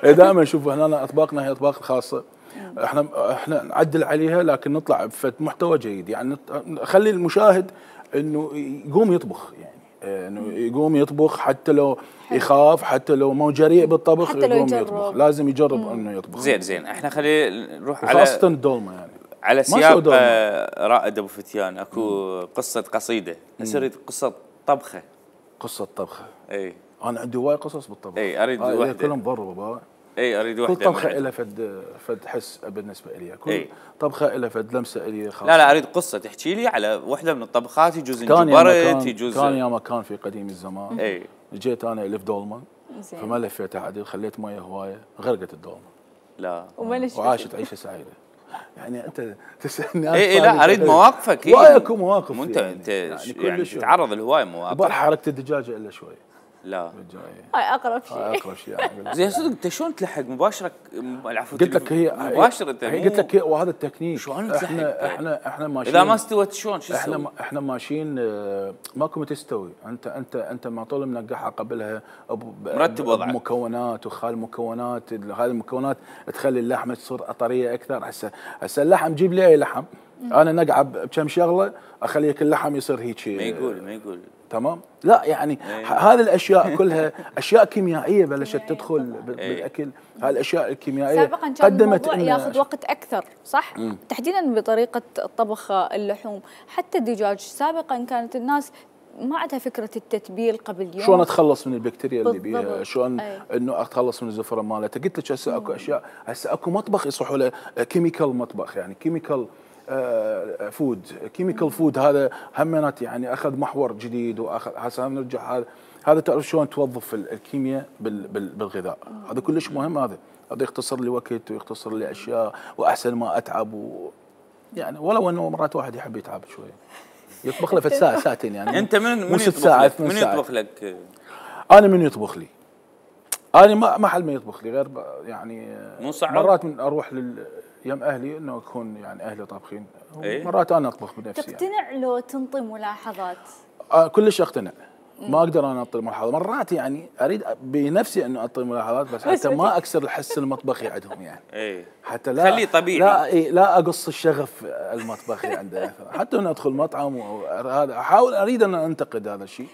دائما شوفوا هنا اطباقنا هي اطباق خاصه. احنا نعدل عليها لكن نطلع بفد محتوى جيد، يعني نخلي المشاهد انه يقوم يطبخ، يعني انه يقوم يطبخ حتى لو يخاف، حتى لو مو جريء بالطبخ يقوم يطبخ، لازم يجرب انه يطبخ. زين احنا خلينا نروح على خاصه الدولمه يعني على سياق رائد ابو فتيان. اكو قصه قصيده اريد قصه طبخه. قصه طبخه انا عندي هواي قصص بالطبخ. اريد وحده كلهم ضربه. اريد وحده. كل طبخه لها فد حس بالنسبه لي، كل طبخه لها فد لمسه لي خاصه. لا اريد قصه تحكي لي على وحده من الطبخات، يجوز انجبرت، يجوز كان يا مكان في قديم الزمان. جيت انا الف دولمه فما لفيتها عدل، خليت ميه هوايه غرقت الدوامه. لا وعاشت عيشه سعيده. يعني انت تسالني اي لا اريد مواقفك. هوايه اكو مواقف. انت يعني تتعرض لهوايه مواقف. البارحه حركت الدجاجه الا شوي. لا هاي اقرب شيء. اقرب شيء يعني. زين صدق انت شلون تلحق مباشره؟ العفو قلت لك هي مباشره. هي قلت لك وهذا التكنيك. شلون تلحق؟ احنا ماشيين. اذا ما استوت شلون شو تسوي؟ احنا ماشيين ماكو تستوي. انت ما طول منقعها قبلها مرتب وضعك مكونات وخال مكونات. هذه المكونات تخلي اللحمه تصير طريه اكثر. هسه اللحم جيب لي اي لحم انا نقعه بكم شغله اخليك اللحم يصير هيك. ما يقول تمام. لا يعني هذه الاشياء كلها اشياء كيميائيه بلشت تدخل بالاكل. هاي الاشياء الكيميائيه سابقا كان الموضوع ياخذ وقت اكثر صح؟ تحديدا بطريقه طبخ اللحوم. حتى الدجاج سابقا كانت الناس ما عندها فكره التتبيل قبل يوم. شلون اتخلص من البكتيريا اللي بيها، شلون انه اتخلص من الزفره مالته. قلت لك هسه اكو اشياء، هسه اكو مطبخ يصحوا له كيميكال مطبخ، يعني كيميكال فود. كيميكال فود هذا همينات يعني اخذ محور جديد. واخذ هسه نرجع هذا تعرف شلون توظف الكيمياء بالغذاء. هذا كلش مهم. هذا يختصر لي وقت ويختصر لي اشياء واحسن ما اتعب يعني ولو انه مرات واحد يحب يتعب شويه يطبخ له في ساعه ساعتين يعني. انت من يطبخ لك؟ انا من يطبخ لي. انا ما حل ما يطبخ لي غير يعني مو صعب. مرات من اروح يم اهلي انه يكون يعني اهلي طابخين. مرات انا اطبخ بنفسي. تقتنع يعني لو تنطي ملاحظات؟ كلش اقتنع. ما اقدر انا اعطي ملاحظات. مرات يعني اريد بنفسي انه اعطي ملاحظات بس حتى ما اكسر الحس المطبخي عندهم يعني. حتى لا خليه طبيعي. لا اقص الشغف المطبخي عنده. حتى انا ادخل مطعم وهذا احاول اريد ان انتقد هذا الشيء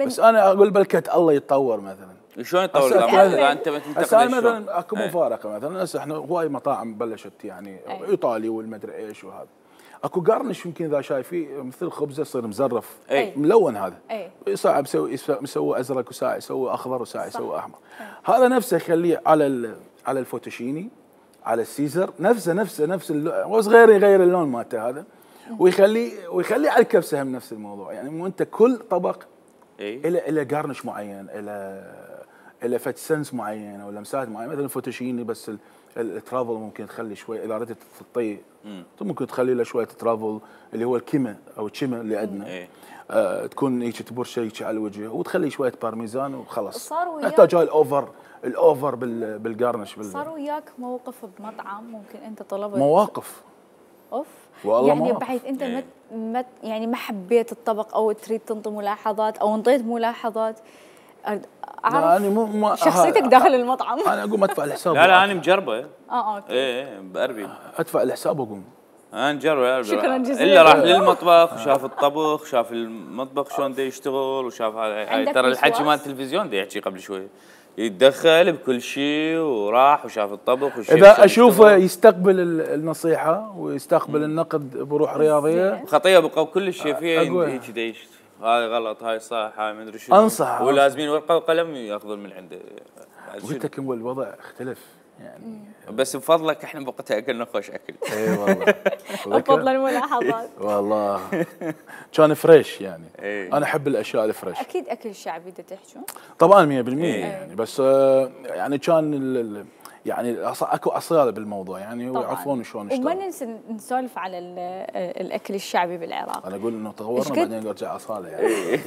بس انا اقول بلكت الله يتطور مثلا. شلون يتطور اذا انت ما تنتقد؟ مثلا اكو مفارقه مثلا. هسه احنا هواي مطاعم بلشت يعني ايطالي والمدري ايش وهذا. اكو قرنش يمكن اذا شايفيه مثل خبزه يصير مزرف ملون. هذا ساعه مسوي ازرق وساعه يسوي اخضر وساعه يسوي احمر. هذا نفسه يخليه على الفوتوشيني على السيزر نفس اللون بس غير اللون مالته هذا. ويخليه على الكبسه هم نفس الموضوع. يعني مو انت كل طبق الى قرنش معين الى فت سنس معين او لمسات معينه. مثلا الفوتوشيني بس الترافل ممكن تخلي شوي اذا ردت تطي ممكن تخلي له شويه ترافل اللي هو الكيمه او الشيمه اللي عندنا. تكون هيك تبرش هيك على الوجه وتخلي شويه بارميزان وخلاص. يحتاج هاي الاوفر بالقرنش. صار وياك موقف بمطعم ممكن انت طلبت؟ مواقف والله يعني بحيث انت يعني ما حبيت الطبق او تريد تنطي ملاحظات او انطيت ملاحظات. اعرف شخصيتك داخل المطعم. انا اقوم ادفع الحساب. لا انا مجربه. اوكي. باربي ادفع الحساب واقوم. انا نجرب. شكرا جزيلا. الا راح للمطبخ وشاف الطبخ، شاف المطبخ شلون دا يشتغل وشاف هاي ترى الحكي مال التلفزيون دا يحكي قبل شوي. يتدخل بكل شيء وراح وشاف الطبخ اذا اشوفه يستقبل النصيحه ويستقبل النقد بروح رياضيه. خطيه بقوا كل الشيفيه هيك دا يشتغل. هاي غلط هاي صح هاي ما ادري شو. انصح ولازمين ورقه وقلم ياخذون من عنده. قلت لك الوضع اختلف يعني. بس بفضلك احنا بوقتها اكلنا خوش اكل. اي والله. بفضل الملاحظات. والله كان فريش يعني. انا احب الاشياء الفريش. اكيد اكل الشعبي دا تحجون؟ طبعا 100% يعني. بس يعني كان يعني اكو اصاله بالموضوع يعني ويعرفون شلون نشتغل. وما ننسى نسولف على الاكل الشعبي بالعراق. انا اقول انه تطورنا بعدين نرجع اصاله يعني.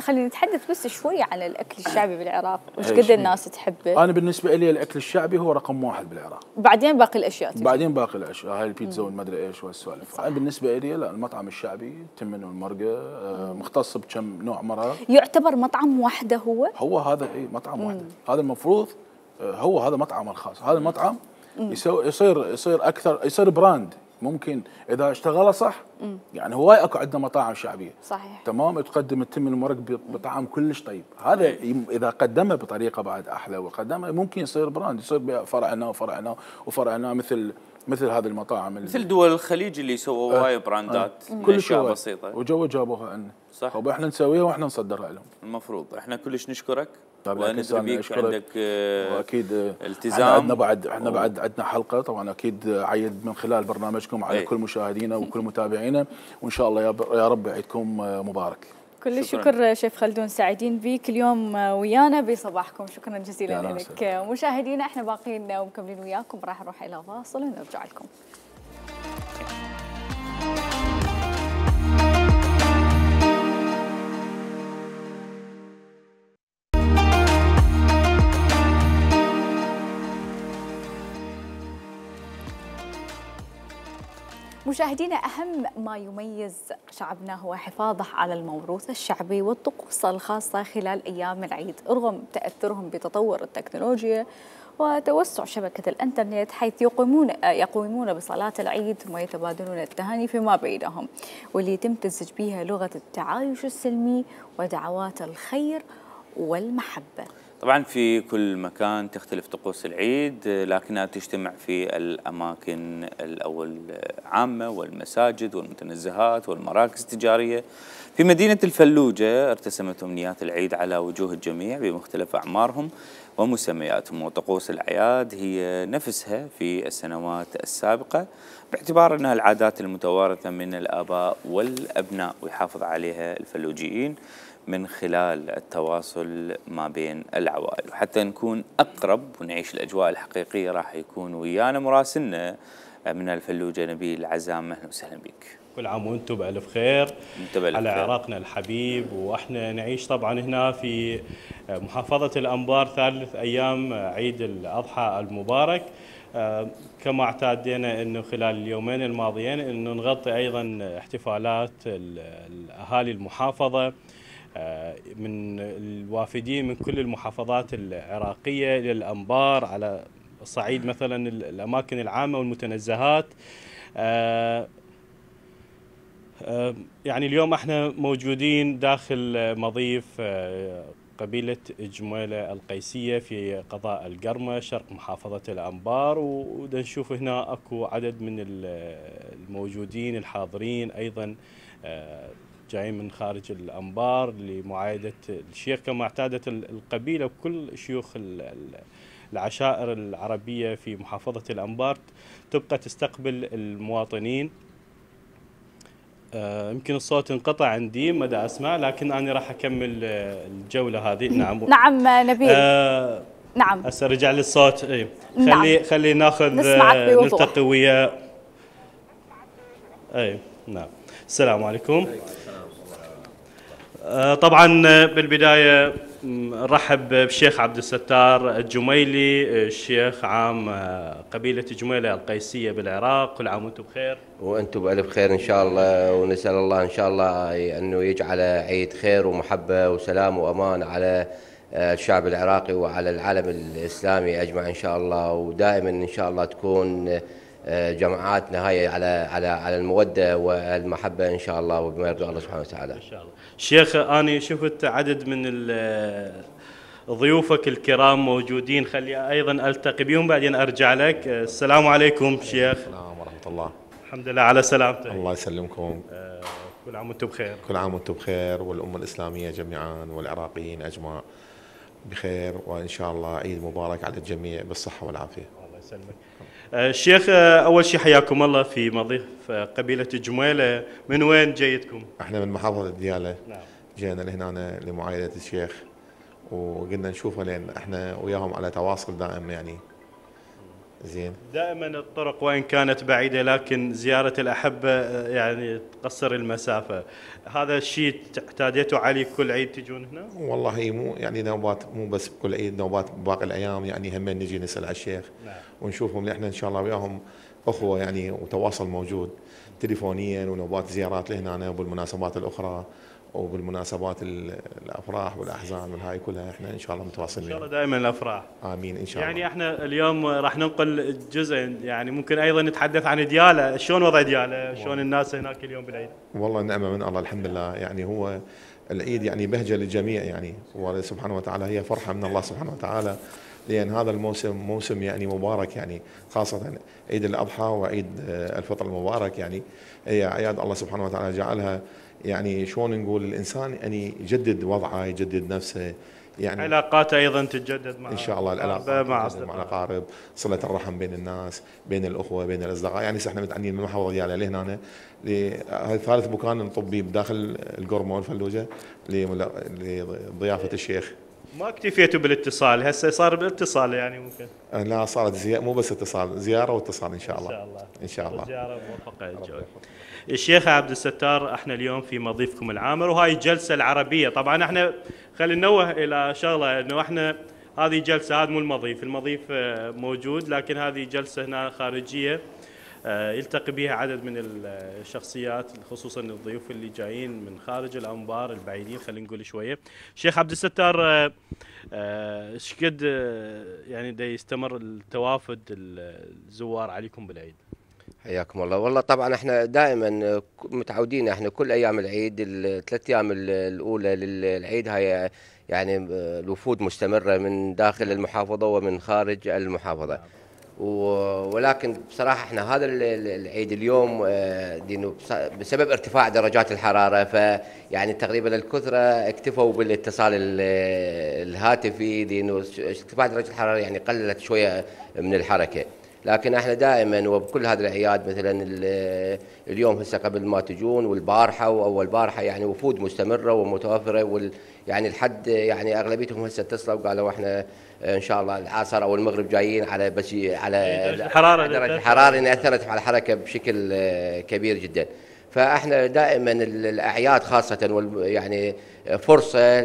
خلينا نتحدث بس شوي عن الاكل الشعبي بالعراق وش قد الناس تحبه. انا بالنسبه لي الاكل الشعبي هو رقم 1 بالعراق. بعدين باقي الاشياء بعدين باقي الاشياء هاي البيتزا والمدري ايش والسوالف. انا بالنسبه لي لا المطعم الشعبي تمن والمرقه مختص بكم نوع مرق. يعتبر مطعم وحده هو هذا مطعم وحده. هذا المفروض هذا مطعم الخاص. هذا المطعم يصير اكثر يصير براند. ممكن اذا اشتغله صح يعني هواي اكو عندنا مطاعم شعبيه صحيح تمام تقدم التمن المرق بطعم كلش طيب. هذا اذا قدمه بطريقه بعد احلى وقدمه ممكن يصير براند. يصير فرعنا وفرعنا وفرعنا مثل هذه المطاعم مثل دول الخليج اللي سووا هواي براندات كل اشياء بسيطه جابوها لنا صح. واحنا نسويها واحنا نصدرها لهم. المفروض احنا كلش نشكرك. وندري بيك عندك واكيد التزام. احنا بعد عندنا حلقه طبعا اكيد عيد من خلال برنامجكم على كل مشاهدينا وكل متابعينا وان شاء الله يا رب عيدكم مبارك. كل الشكر شيف خلدون، سعيدين بيك اليوم ويانا بصباحكم. شكرا جزيلا لك. مشاهدينا احنا باقيين ومكملين وياكم، راح نروح الى فاصل ونرجع لكم. مشاهدينا، أهم ما يميز شعبنا هو حفاظه على الموروث الشعبي والطقوس الخاصة خلال أيام العيد، رغم تأثرهم بتطور التكنولوجيا وتوسع شبكة الإنترنت، حيث يقومون بصلاة العيد ثم يتبادلون التهاني فيما بينهم، واللي يتم تمتزج بها لغة التعايش السلمي ودعوات الخير والمحبة. طبعا في كل مكان تختلف طقوس العيد، لكنها تجتمع في الأماكن الأول عامة والمساجد والمتنزهات والمراكز التجارية. في مدينة الفلوجة ارتسمت أمنيات العيد على وجوه الجميع بمختلف أعمارهم ومسمياتهم، وطقوس الأعياد هي نفسها في السنوات السابقة، باعتبار أنها العادات المتوارثة من الآباء والأبناء، ويحافظ عليها الفلوجيين من خلال التواصل ما بين العوائل. وحتى نكون أقرب ونعيش الأجواء الحقيقية راح يكون ويانا مراسلنا من الفلوجة نبيل عزام. أهلا وسهلا بك. كل عام وانتم بألف خير على عراقنا الحبيب. واحنا نعيش طبعا هنا في محافظة الأنبار ثالث أيام عيد الأضحى المبارك. كما اعتادنا انه خلال اليومين الماضيين انه نغطي ايضا احتفالات الاهالي المحافظة من الوافدين من كل المحافظات العراقية إلى الأنبار، على الصعيد مثلا الأماكن العامة والمتنزهات. يعني اليوم احنا موجودين داخل مضيف قبيلة جميلة القيسية في قضاء القرمة شرق محافظة الأنبار، ودا نشوف هنا اكو عدد من الموجودين الحاضرين ايضا جايين من خارج الأنبار لمعايدة الشيخ كما اعتادت القبيلة وكل شيوخ العشائر العربية في محافظة الأنبار تبقى تستقبل المواطنين. يمكن الصوت انقطع عندي مدى أسمع، لكن أنا راح أكمل الجولة هذه. نعم نبيل. نعم هسه رجع لي الصوت. اي خلي ناخذ نلتقي ويا. اي نعم. السلام عليكم. طبعا بالبداية نرحب بالشيخ عبد الستار الجميلي، الشيخ عام قبيلة جميلة القيسية بالعراق. كل عام وانتم بخير. وانتم بألف خير ان شاء الله، ونسأل الله ان شاء الله انه يجعل عيد خير ومحبة وسلام وامان على الشعب العراقي وعلى العالم الإسلامي أجمع إن شاء الله، ودائما إن شاء الله تكون جماعاتنا هاي على المودة والمحبة إن شاء الله، وبما يرضي الله سبحانه وتعالى إن شاء الله. شيخ أنا شفت عدد من ضيوفك الكرام موجودين، خلي أيضا ألتقي بهم بعدين أرجع لك. السلام عليكم شيخ. السلام ورحمة الله. الحمد لله على سلامتك. الله يسلمكم. كل عام وانتم بخير. كل عام وانتم بخير، والأمة الإسلامية جميعا والعراقيين أجمع بخير، وإن شاء الله عيد مبارك على الجميع بالصحة والعافية. الله يسلمك. الشيخ أول شيء حياكم الله في مضيف قبيلة جميلة. من وين جيتكم؟ احنا من محافظة ديالى. نعم. جينا لهنا لمعايدة الشيخ وقلنا نشوفه، لأن احنا وياهم على تواصل دائم يعني. زين. دائما الطرق وإن كانت بعيدة لكن زيارة الأحبة يعني تقصر المسافة. هذا الشيء اعتاديتوا عليه كل عيد تجون هنا؟ والله هي مو يعني نوبات، مو بس بكل عيد، نوبات باقي الأيام يعني هم نجي نسأل على الشيخ. نعم. ونشوفهم، لأن احنا إن شاء الله وياهم أخوة يعني، وتواصل موجود تليفونيا، ونوبات زيارات لهنا وبالمناسبات الأخرى وبالمناسبات الافراح والاحزان والهاي كلها احنا ان شاء الله متواصلين. ان شاء الله دائما الافراح. امين ان شاء الله. يعني احنا اليوم راح ننقل جزء، يعني ممكن ايضا نتحدث عن ديالى، شلون وضع ديالى؟ شلون الناس هناك اليوم بالعيد؟ والله نعمه من الله الحمد لله، يعني هو العيد يعني بهجه للجميع يعني، سبحانه وتعالى هي فرحه من الله سبحانه وتعالى، لان هذا الموسم موسم يعني مبارك يعني، خاصه عيد الاضحى وعيد الفطر المبارك يعني، هي اعياد الله سبحانه وتعالى جعلها يعني شلون نقول الانسان يعني يجدد وضعه، يجدد نفسه، يعني علاقاته ايضا تتجدد مع ان شاء الله، العلاقات مع الاقارب، صله الرحم بين الناس، بين الاخوه، بين الاصدقاء. يعني احنا متعنين من المحافظه ديالنا لهنا هذا ثالث مكان طبي بداخل القرمه والفلوجه لضيافه الشيخ. ما اكتفيتوا بالاتصال، هسه صار بالاتصال يعني ممكن؟ لا، صارت مو بس اتصال، زياره واتصال ان شاء الله. ان شاء الله ان شاء الله. زياره موفقه الجوي. الشيخ عبد الستار، احنا اليوم في مضيفكم العامر، وهاي الجلسه العربيه. طبعا احنا خلينا ننوه الى شغله، انه احنا هذه جلسه، هذا مو المضيف موجود، لكن هذه جلسه هنا خارجيه يلتقي بها عدد من الشخصيات، خصوصا الضيوف اللي جايين من خارج الانبار البعيدين. خلينا نقول شويه. شيخ عبد الستار، ايش قد يعني دا يستمر التوافد الزوار عليكم بالعيد؟ حياكم الله. والله طبعا احنا دائما متعودين، احنا كل ايام العيد الثلاث ايام الاولى للعيد هاي يعني الوفود مستمره من داخل المحافظه ومن خارج المحافظه. ولكن بصراحه احنا هذا العيد اليوم بسبب ارتفاع درجات الحراره، فيعني تقريبا الكثره اكتفوا بالاتصال الهاتفي، لانه ارتفاع درجه الحراره يعني قللت شويه من الحركه. لكن احنا دائما وبكل هذه الاعياد، مثلا اليوم هسه قبل ما تجون والبارحه واول بارحه، يعني وفود مستمره ومتوفره، يعني الحد يعني اغلبيتهم هسه اتصلوا وقالوا احنا ان شاء الله العصر او المغرب جايين على بس على درجه الحراره ان اثرت على الحركه بشكل كبير جدا. فاحنا دائما الاعياد خاصه يعني فرصه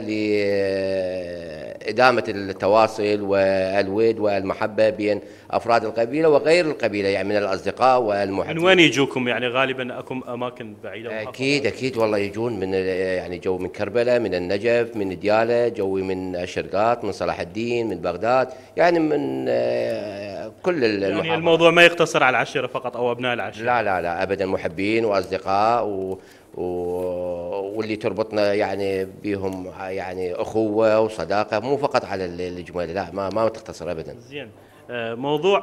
لادامه التواصل والود والمحبه بين افراد القبيله وغير القبيله، يعني من الاصدقاء والمحبين. من وين يجوكم؟ يعني غالبا اكم اماكن بعيده؟ اكيد والله يجون من يعني جو من كربلاء، من النجف، من دياله، جوي من الشرقات، من صلاح الدين، من بغداد، يعني من كل المحافظات. يعني الموضوع ما يقتصر على العشيره فقط او ابناء العشيره؟ لا ابدا، محبين واصدقاء واللي تربطنا يعني بهم يعني اخوه وصداقه، مو فقط على الجمال، لا ما تختصر ابدا. زين. موضوع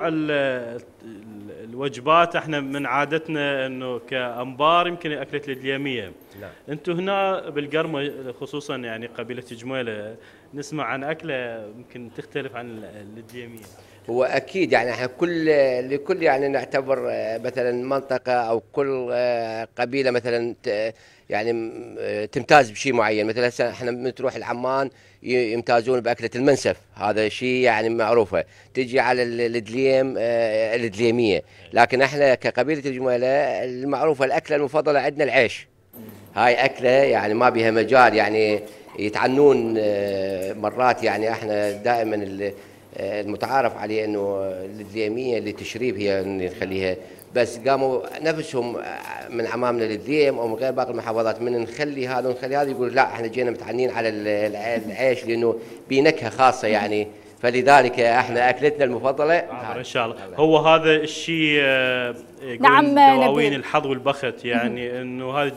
الوجبات، احنا من عادتنا انه كانبار يمكن اكله الدليميه. انتم هنا بالقرمه خصوصا يعني قبيله جميله نسمع عن اكله يمكن تختلف عن الدليميه. هو اكيد يعني احنا لكل يعني نعتبر مثلا منطقه او كل قبيله مثلا يعني تمتاز بشيء معين. مثلا احنا بنروح العمان يمتازون باكله المنسف، هذا شيء يعني معروفه. تجي على الدليميه، لكن احنا كقبيله الجميله المعروفه الاكله المفضله عندنا العيش. هاي اكله يعني ما بها مجال، يعني يتعنون مرات، يعني احنا دائما المتعارف عليه انه الدليميه اللي تشريب هي نخليها، بس قاموا نفسهم من عمامنا للدليم او من غير باقي المحافظات من نخلي هذا ونخلي هذا، يقول لا احنا جينا متعنين على العيش لانه بنكهه خاصه يعني، فلذلك احنا اكلتنا المفضله ان شاء الله. هو هذا الشيء نعم دواوين الحظ والبخت، يعني انه هذا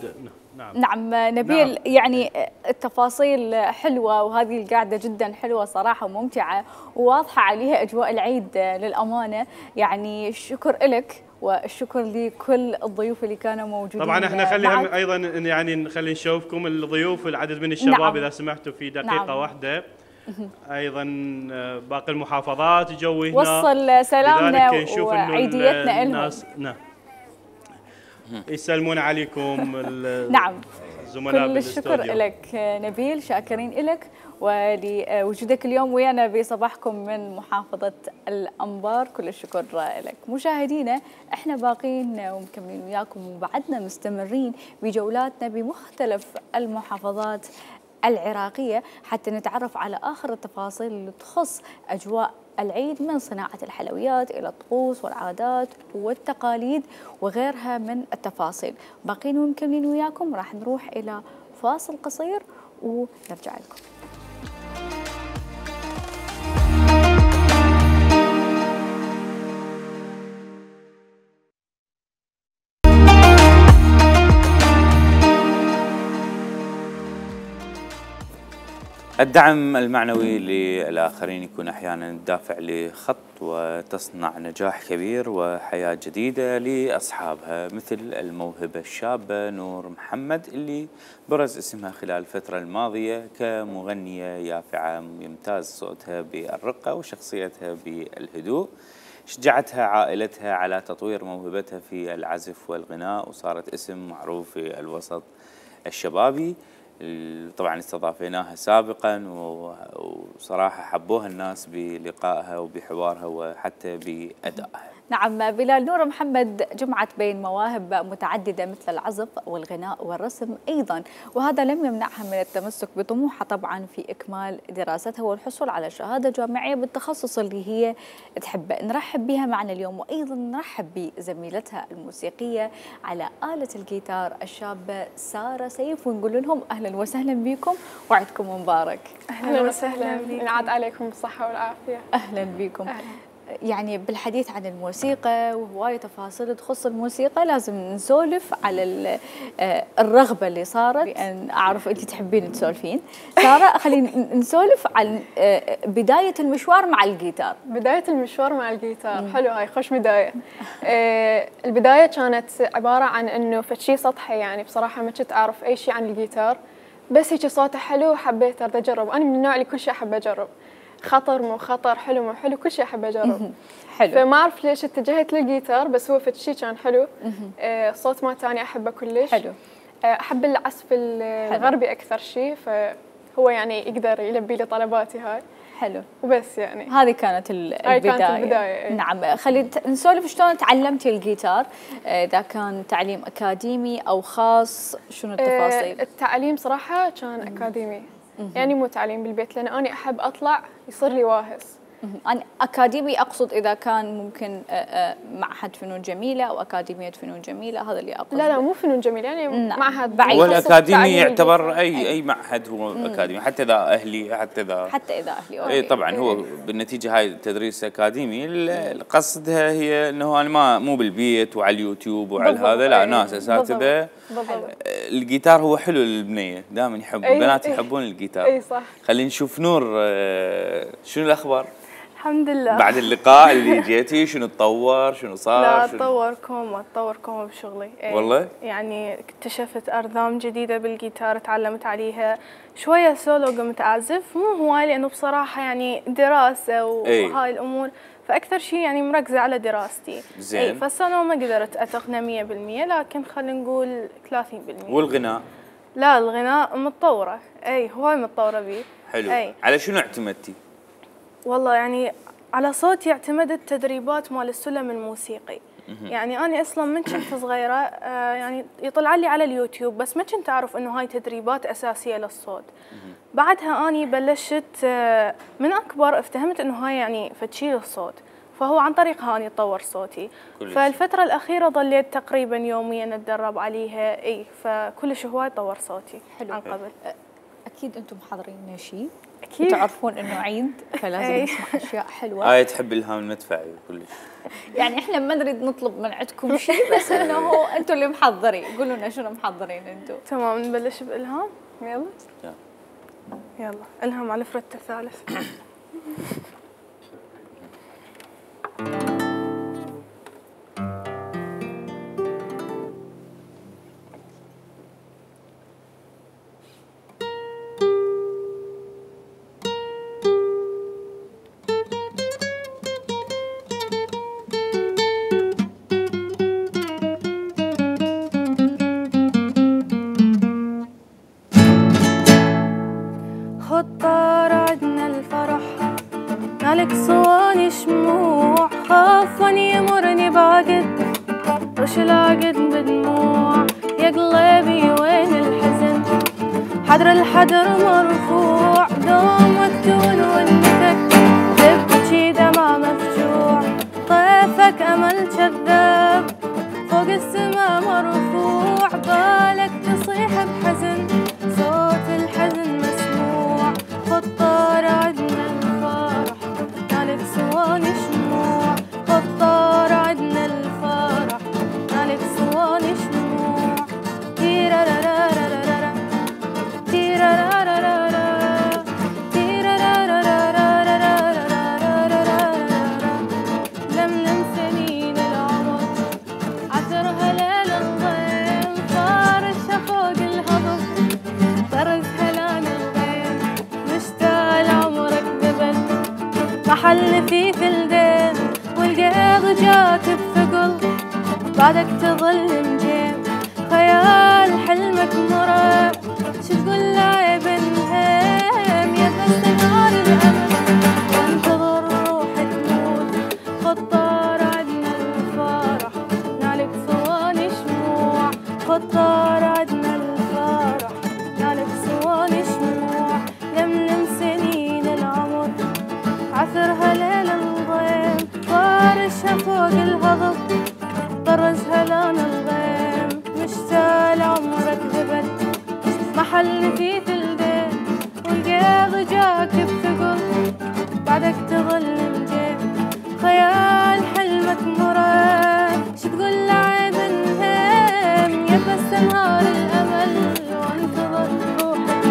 نعم نبيل. يعني التفاصيل حلوة، وهذه القعدة جدا حلوة صراحة وممتعة وواضحة عليها أجواء العيد للأمانة. يعني الشكر لك والشكر لكل الضيوف اللي كانوا موجودين. طبعا احنا خليها ايضا يعني نخلي نشوفكم الضيوف والعدد من الشباب. نعم. اذا سمحتوا في دقيقة. نعم. واحدة ايضا باقي المحافظات جوي هنا، وصل سلامنا وعيديتنا لهم. نعم يسلمون عليكم نعم. الزملاء كل الشكر لك نبيل، شاكرين لك ولوجودك اليوم ويانا بصباحكم من محافظة الأنبار. كل الشكر لك. مشاهدينا احنا باقين ومكملين وياكم وبعدنا مستمرين بجولاتنا بمختلف المحافظات العراقية حتى نتعرف على آخر التفاصيل اللي تخص أجواء العيد، من صناعة الحلويات إلى الطقوس والعادات والتقاليد وغيرها من التفاصيل. باقين ومكملين وياكم، راح نروح إلى فاصل قصير ونرجع لكم. الدعم المعنوي للآخرين يكون أحيانا الدافع لخط وتصنع نجاح كبير وحياة جديدة لأصحابها، مثل الموهبة الشابة نور محمد اللي برز اسمها خلال الفترة الماضية كمغنية يافعة يمتاز صوتها بالرقة وشخصيتها بالهدوء. شجعتها عائلتها على تطوير موهبتها في العزف والغناء وصارت اسم معروف في الوسط الشبابي. طبعا استضافيناها سابقا وصراحة حبوها الناس بلقائها وبحوارها وحتى بأدائها. نعم بلال، نور محمد جمعت بين مواهب متعددة مثل العزف والغناء والرسم أيضا، وهذا لم يمنعها من التمسك بطموحها طبعا في إكمال دراستها والحصول على شهادة جامعية بالتخصص اللي هي تحبه. نرحب بها معنا اليوم، وأيضا نرحب بزميلتها الموسيقية على آلة الجيتار الشابة سارة سيف، ونقول لهم أهلا وسهلا بكم وعدكم مبارك. أهلا وسهلا، ينعاد عليكم بالصحة والعافية. أهلا بكم. يعني بالحديث عن الموسيقى وهواية تفاصيل تخص الموسيقى لازم نسولف على الرغبة اللي صارت، لأن أعرف أنت تحبين تسولفين. سارة خلينا نسولف عن بداية المشوار مع الجيتار. بداية المشوار مع الجيتار حلو، هاي خوش بداية. البداية كانت عبارة عن أنه فشي سطحي، يعني بصراحة ما كنت أعرف أي شيء عن الجيتار، بس هيك صوته حلو وحبيت أرد أجرب. أنا من النوع اللي كل شيء أحب أجرب، خطر مو خطر، حلو مو حلو، كل شيء أحب أجرب. حلو. فما أعرف ليش اتجهت للجيتار، بس هو فشي كان حلو. الصوت ما تاني أحبه كلش. حلو. أحب العزف الغربي أكثر شيء، فهو يعني يقدر يلبي لي طلباتي هاي. حلو. وبس يعني هذه كانت البداية. هاي كانت البداية. نعم، خلينا نسولف شلون تعلمتي الجيتار، إذا كان تعليم أكاديمي أو خاص، شنو التفاصيل؟ التعليم صراحة كان أكاديمي، يعني مو تعليم بالبيت، لأن أنا أحب أطلع يصير لي واهس. أنا أكاديمي أقصد إذا كان ممكن معهد فنون جميلة أو أكاديمية فنون جميلة، هذا اللي أقصد. لا مو فنون جميلة، يعني معهد بعيد. والأكاديمي يعتبر أي معهد هو أكاديمي، حتى إذا أهلي حتى إذا أهلي. أي طبعا هو بالنتيجة هاي تدريس أكاديمي، قصدها هي أنه أنا مو بالبيت وعلى اليوتيوب وعلى هذا، لا ناس أساتذة. الجيتار هو حلو للبنية، دائما البنات يحبون الجيتار. أي صح. خلينا نشوف نور، شنو الأخبار؟ الحمد لله. بعد اللقاء اللي جيتي شنو تطور، شنو صار؟ لا تطوركم بشغلي. والله؟ يعني اكتشفت أرذام جديدة بالجيتار، تعلمت عليها شوية سولو، قمت أعزف مو هواي لأنه بصراحة يعني دراسة وهاي الأمور، فأكثر شيء يعني مركزة على دراستي. زين. فالسولو ما قدرت أتقنه 100%، لكن خلينا نقول 30%. والغناء؟ لا الغناء متطورة، هواي متطورة بيه. حلو. على شنو اعتمدتي؟ والله يعني على صوتي اعتمدت تدريبات مال السلم الموسيقي. يعني أنا أصلا من كنت صغيرة يعني يطلع لي على اليوتيوب، بس ما كنت أعرف إنه هاي تدريبات أساسية للصوت. بعدها أني بلشت من أكبر افتهمت إنه هاي يعني فتشي للصوت، فهو عن طريقها أني أطور صوتي. فالفترة الأخيرة ظليت تقريبا يوميا أتدرب عليها، فكلش هواي طور صوتي عن قبل. أكيد أنتم حاضرين شيء، أكيد تعرفون إنه عيد، فلازم نسمع أشياء حلوة. تحب الهام المدفعي وكلش. يعني إحنا ما نريد نطلب من عندكم شيء، بس إنه أنتم اللي محضرين، قولوا لنا شنو محضرين أنتم. تمام، نبلش بإلهام. يلا إلهام على الفرد الثالث. مالك صواني شموع، خافني يمرني باقد وش لاقد بدموع، يا قلبي وين الحزن، حدر الحدر مرفوع، دوم مكتون وانتك تبكي دمع مفجوع، طيفك امل كذاب فوق السما مرفوع، بالك تصيح بحزن صوت الحزن مسموع، خطار عدنا الفرح مالك صواني شموع، خطار عدنا الفرح مالك صواني شموع، تيرارارارارارا تيرارارارارا جاك بثقل بعدك تظل مجيم خيال حلمك مرة شو تقول لعيب انهام يا بس نهار الأمل وانتظر روحك تموت خطار عدنا الفرح نالك صواني شموع خطار عدنا الفرح نالك صواني شموع لملم سنين العمر عثرها ليل الغيم طارشها فوق الهضب طرزها لون الغيم مشتاق عمرك ذبل محل في ثلدين والقيض جاك بثقل بعدك تظل مجيم خيال حلمك مراد شو تقول لعيب انهام يا بس نهار الامل وانتظر روحك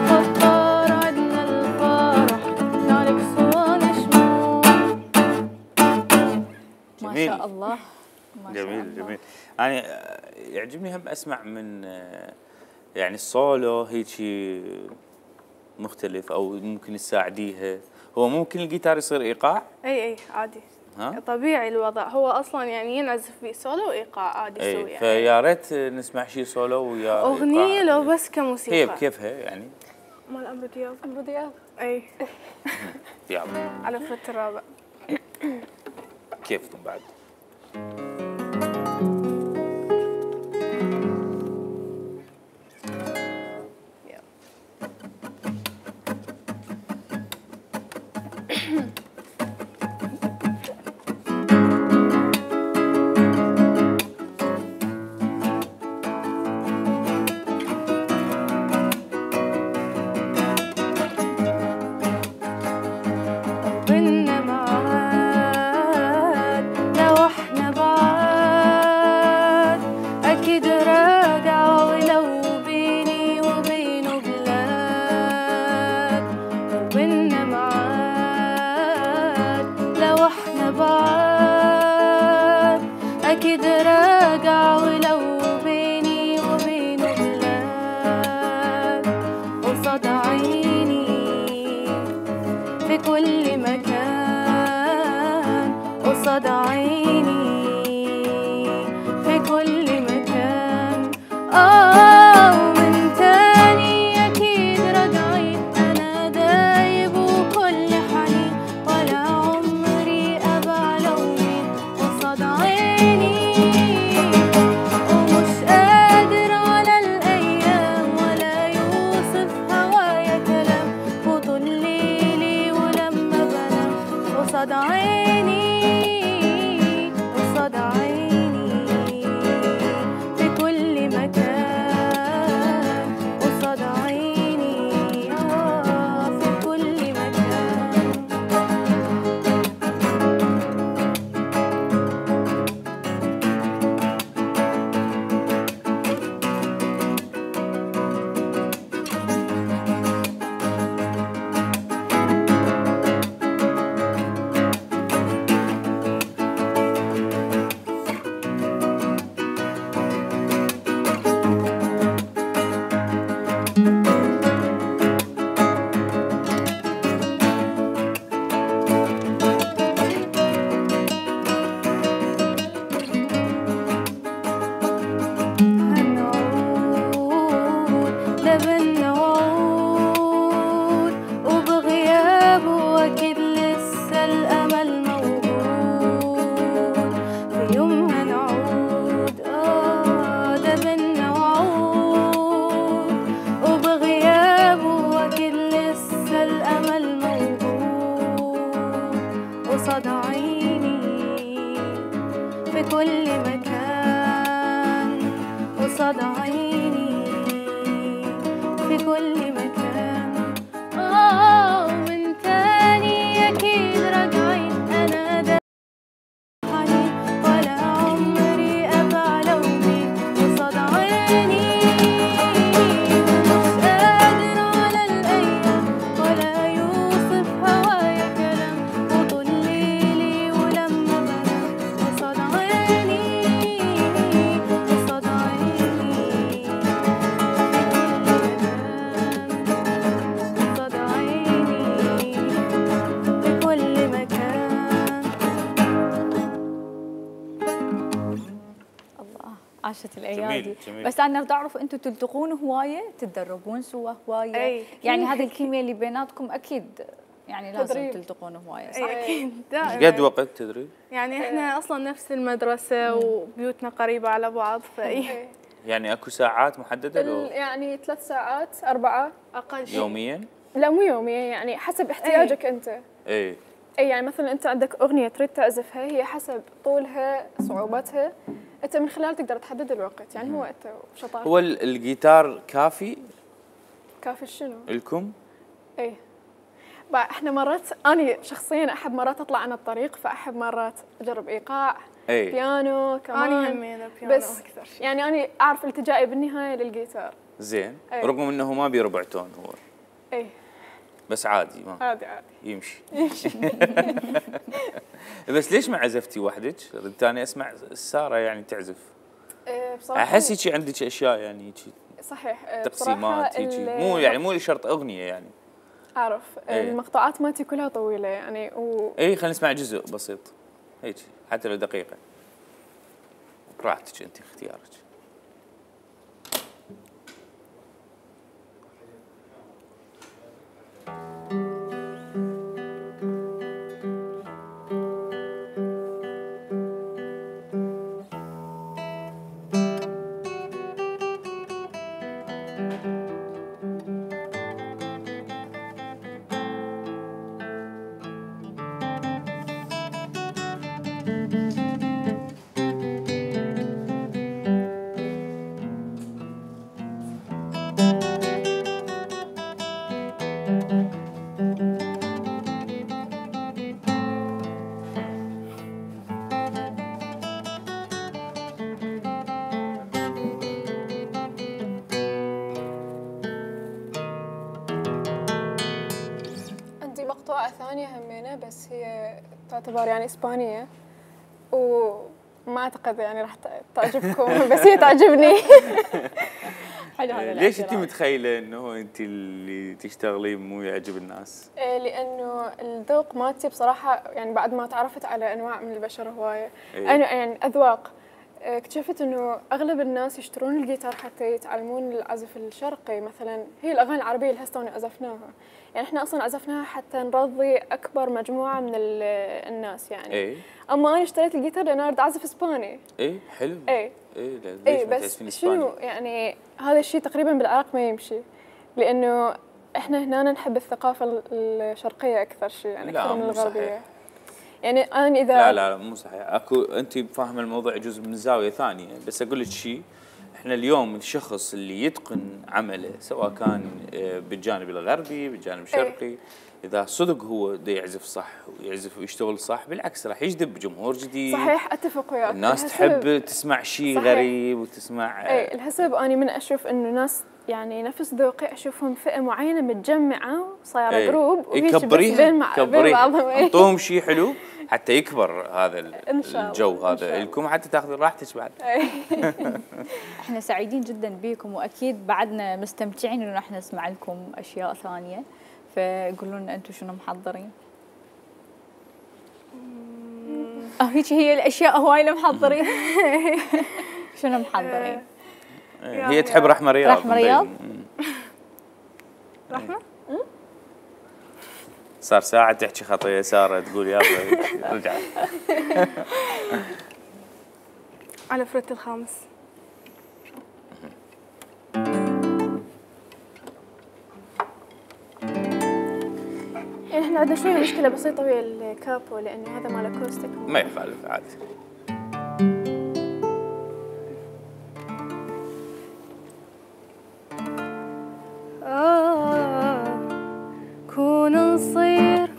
خطار عدنا الفرح نالك صواني شموع. ما شاء الله. جميل جميل. يعني يعجبني هم اسمع من يعني السولو هيك مختلف او ممكن تساعديها. هو ممكن الجيتار يصير ايقاع؟ اي عادي. ها؟ طبيعي الوضع هو اصلا يعني ينعزف فيه سولو وايقاع عادي يسوي يعني. فيا ريت نسمع شيء سولو ويا اغنيه لو بس كموسيقى. هي بكيفها يعني؟ مال عمرو دياب. عمرو دياب. اي. يلا. على فت الرابع. كيفكم بعد؟ عاشت الايادي. جميل جميل. بس انا بدي اعرف انتم تلتقون هوايه، تتدربون سوا هوايه؟ يعني هذه الكيمياء اللي بيناتكم اكيد يعني لازم تدريب. تلتقون هوايه، صح؟ اكيد ايش قد وقت تدريب؟ يعني احنا اصلا نفس المدرسه وبيوتنا قريبه على بعض يعني اكو ساعات محدده لو يعني 3 ساعات 4 اقل شيء يوميا؟ لا مو يوميا، يعني حسب احتياجك انت. اي يعني مثلا انت عندك اغنيه تريد تعزفها، هي حسب طولها صعوبتها انت من خلال تقدر تحدد الوقت، يعني هو انت وشطارتك. هو الجيتار كافي؟ كافي شنو؟ لكم؟ ايه احنا مرات انا شخصيا احب مرات اطلع عن الطريق، فاحب مرات اجرب ايقاع بيانو كمان. انا همينه بيانو بس اكثر شيء. يعني انا اعرف التجائي بالنهايه للجيتار. زين. رغم انه ما بيربع تون هو. ايه بس عادي ما عادي يمشي. بس ليش ما عزفتي وحدك؟ ثاني اسمع ساره يعني تعزف. بصراحه احس هيك عندك اشياء يعني هيك صحيح تقسيمات هيك، مو يعني مو شرط اغنيه يعني. اعرف المقطوعات مالتي كلها طويله يعني اي خلينا نسمع جزء بسيط هيك حتى لو دقيقه. براحتك انت اختيارك. مقطوعة ثانية همينة بس هي تعتبر يعني إسبانية وما أعتقد يعني راح تعجبكم بس هي تعجبني. حلو هذا. ليش أنت متخيلة إنه أنت اللي تشتغلين مو يعجب الناس؟ لأنه الذوق مالتي بصراحة يعني بعد ما تعرفت على أنواع من البشر هواية أنا يعني أذواق اكتشفت انه اغلب الناس يشترون الجيتار حتى يتعلمون العزف الشرقي مثلا. هي الاغاني العربيه اللي هسه عزفناها يعني احنا اصلا عزفناها حتى نرضي اكبر مجموعه من الناس يعني. اما انا اشتريت الجيتار لان اريد اعزف اسباني. حلو. بس شنو يعني هذا الشيء تقريبا بالعراق ما يمشي لانه احنا هنا نحب الثقافه الشرقيه اكثر شيء يعني اكثر من الغربيه. صحيح. يعني انا اذا لا مو صحيح. اكو انت فاهمه الموضوع يجوز من زاويه ثانيه، بس اقول لك شيء، احنا اليوم الشخص اللي يتقن عمله سواء كان بالجانب الغربي بالجانب الشرقي اذا صدق هو دا يعزف صح ويعزف ويشتغل صح بالعكس راح يجذب جمهور جديد. صحيح اتفق وياك. الناس تحب تسمع شيء غريب وتسمع الحسب اني من اشوف انه ناس يعني نفس ذوقي اشوفهم فئه معينه متجمعه صايره جروب ويكبريها بين بعضهم اعطوهم شيء حلو حتى يكبر هذا الجو هذا لكم حتى تاخذون راحتك بعد. احنا سعيدين جدا بيكم واكيد بعدنا مستمتعين انه احنا نسمع لكم اشياء ثانيه، فقولوا لنا انتم شنو محضرين؟ هيك هي الاشياء هواي اللي محضرين. شنو محضرين؟ هي تحب رحمه رياض. رحمه رياض؟ رحمه؟ صار ساعة تحكي خطية سارة تقول يابا رجعت. على فريت الخامس. يعني احنا عندنا شوية مشكلة بسيطة ويا الكابو لأنه هذا مال اكوستيك. ما يخالف عادي. كون نصير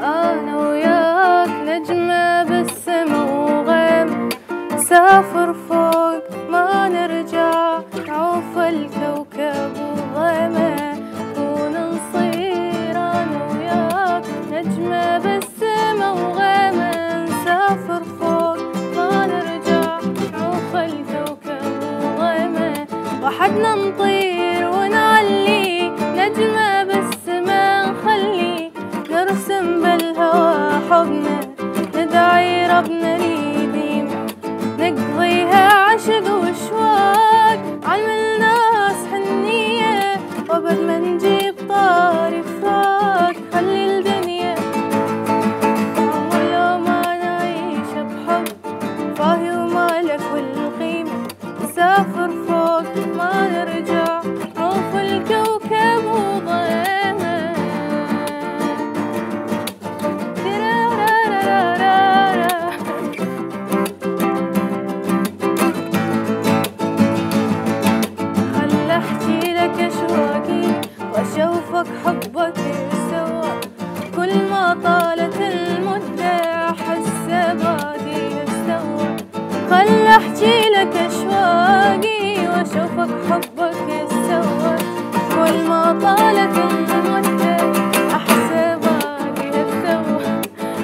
أنا وياك نجمة بالسما وغيم نسافر فوق ما نرجع نعوف الكوكب وغيمه. كون نصير أنا وياك نجمة بالسما وغيمه نسافر فوق اشوفك حبك يتسوى كل ما طالت المدة احسب باقي الثوى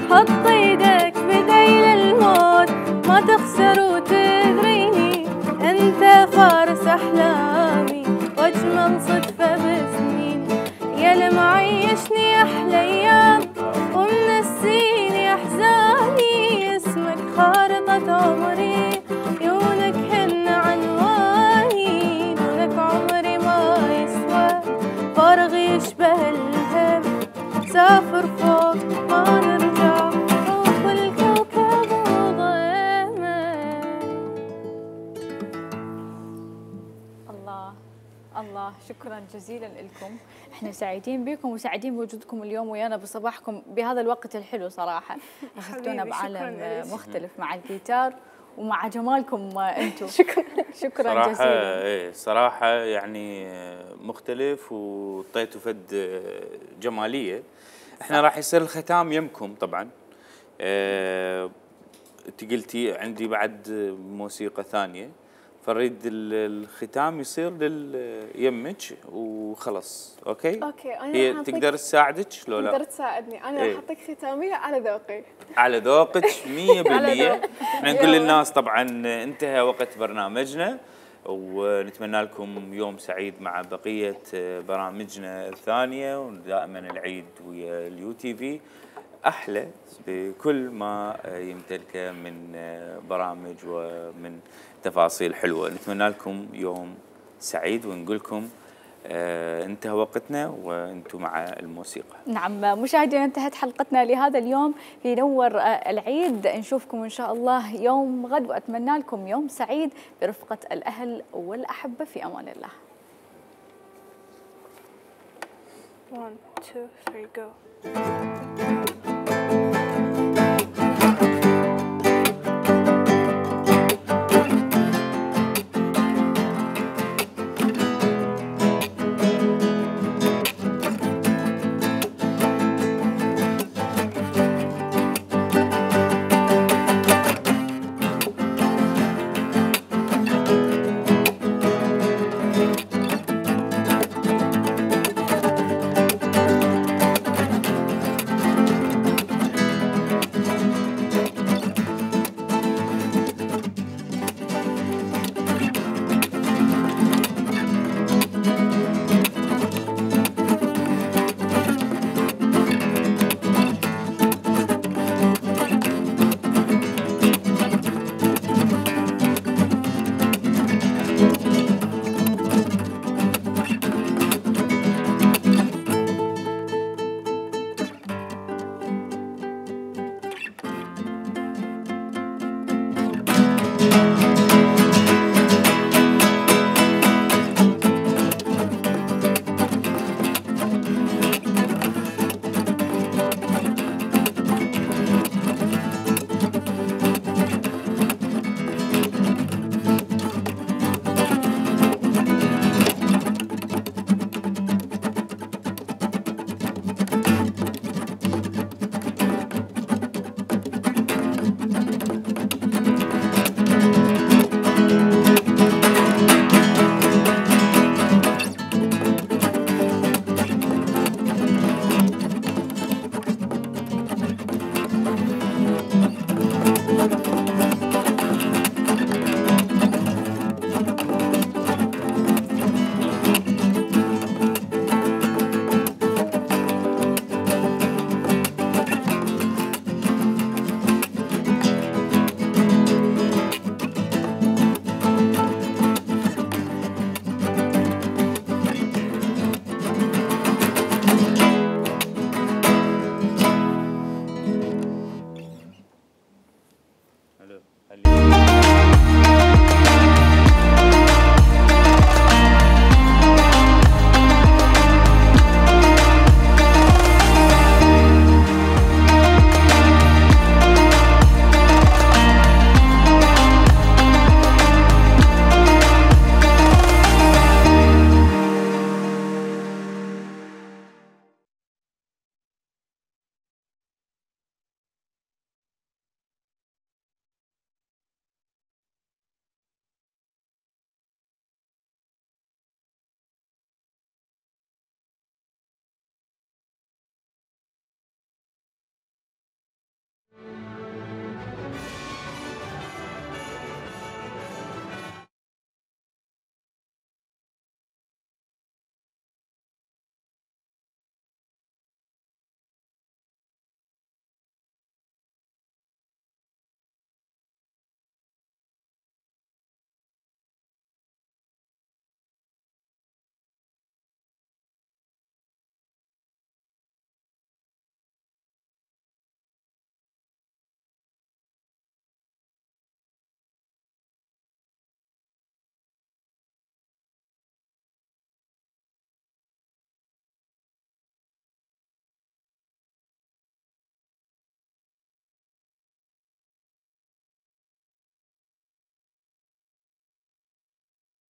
حط ايدك بديل الموت ما تخسر وتدريني انت فارس احلامي واجمل صدفة بسنين يا اللي معيشني احلى ايام ومنسيني احزاني اسمك خارطة عمري عيونك هن عنواني دونك عمري ما يسوى فارغ يشبه الهم سافر فوق ما نرجع روح الكوكب وضيمه. الله شكرا جزيلا لكم، احنا سعيدين بكم وسعيدين بوجودكم اليوم ويانا بصباحكم بهذا الوقت الحلو صراحه، اخذتونا بعالم مختلف مع الجيتار ومع جمالكم انتم. شكرا جزيلا. ايه صراحه يعني مختلف وطيتوا فد جماليه. احنا راح يصير الختام يمكم طبعا. انت قلتي عندي بعد موسيقى ثانيه فنريد الختام يصير يمك وخلص. اوكي هي تقدر تساعدك لو لا؟ تقدر تساعدني انا راح اعطيك ختاميه على ذوقي. على ذوقك 100%. احنا نقول للناس طبعا انتهى وقت برنامجنا ونتمنى لكم يوم سعيد مع بقيه برامجنا الثانيه ودائما العيد ويا اليو تي في احلى بكل ما يمتلكه من برامج ومن تفاصيل حلوه. نتمنى لكم يوم سعيد ونقول لكم انتهى وقتنا وانتم مع الموسيقى. نعم مشاهدينا انتهت حلقتنا لهذا اليوم في نور العيد، نشوفكم ان شاء الله يوم غد واتمنى لكم يوم سعيد برفقه الاهل والاحبه في امان الله. 1 2 3 go. حلو.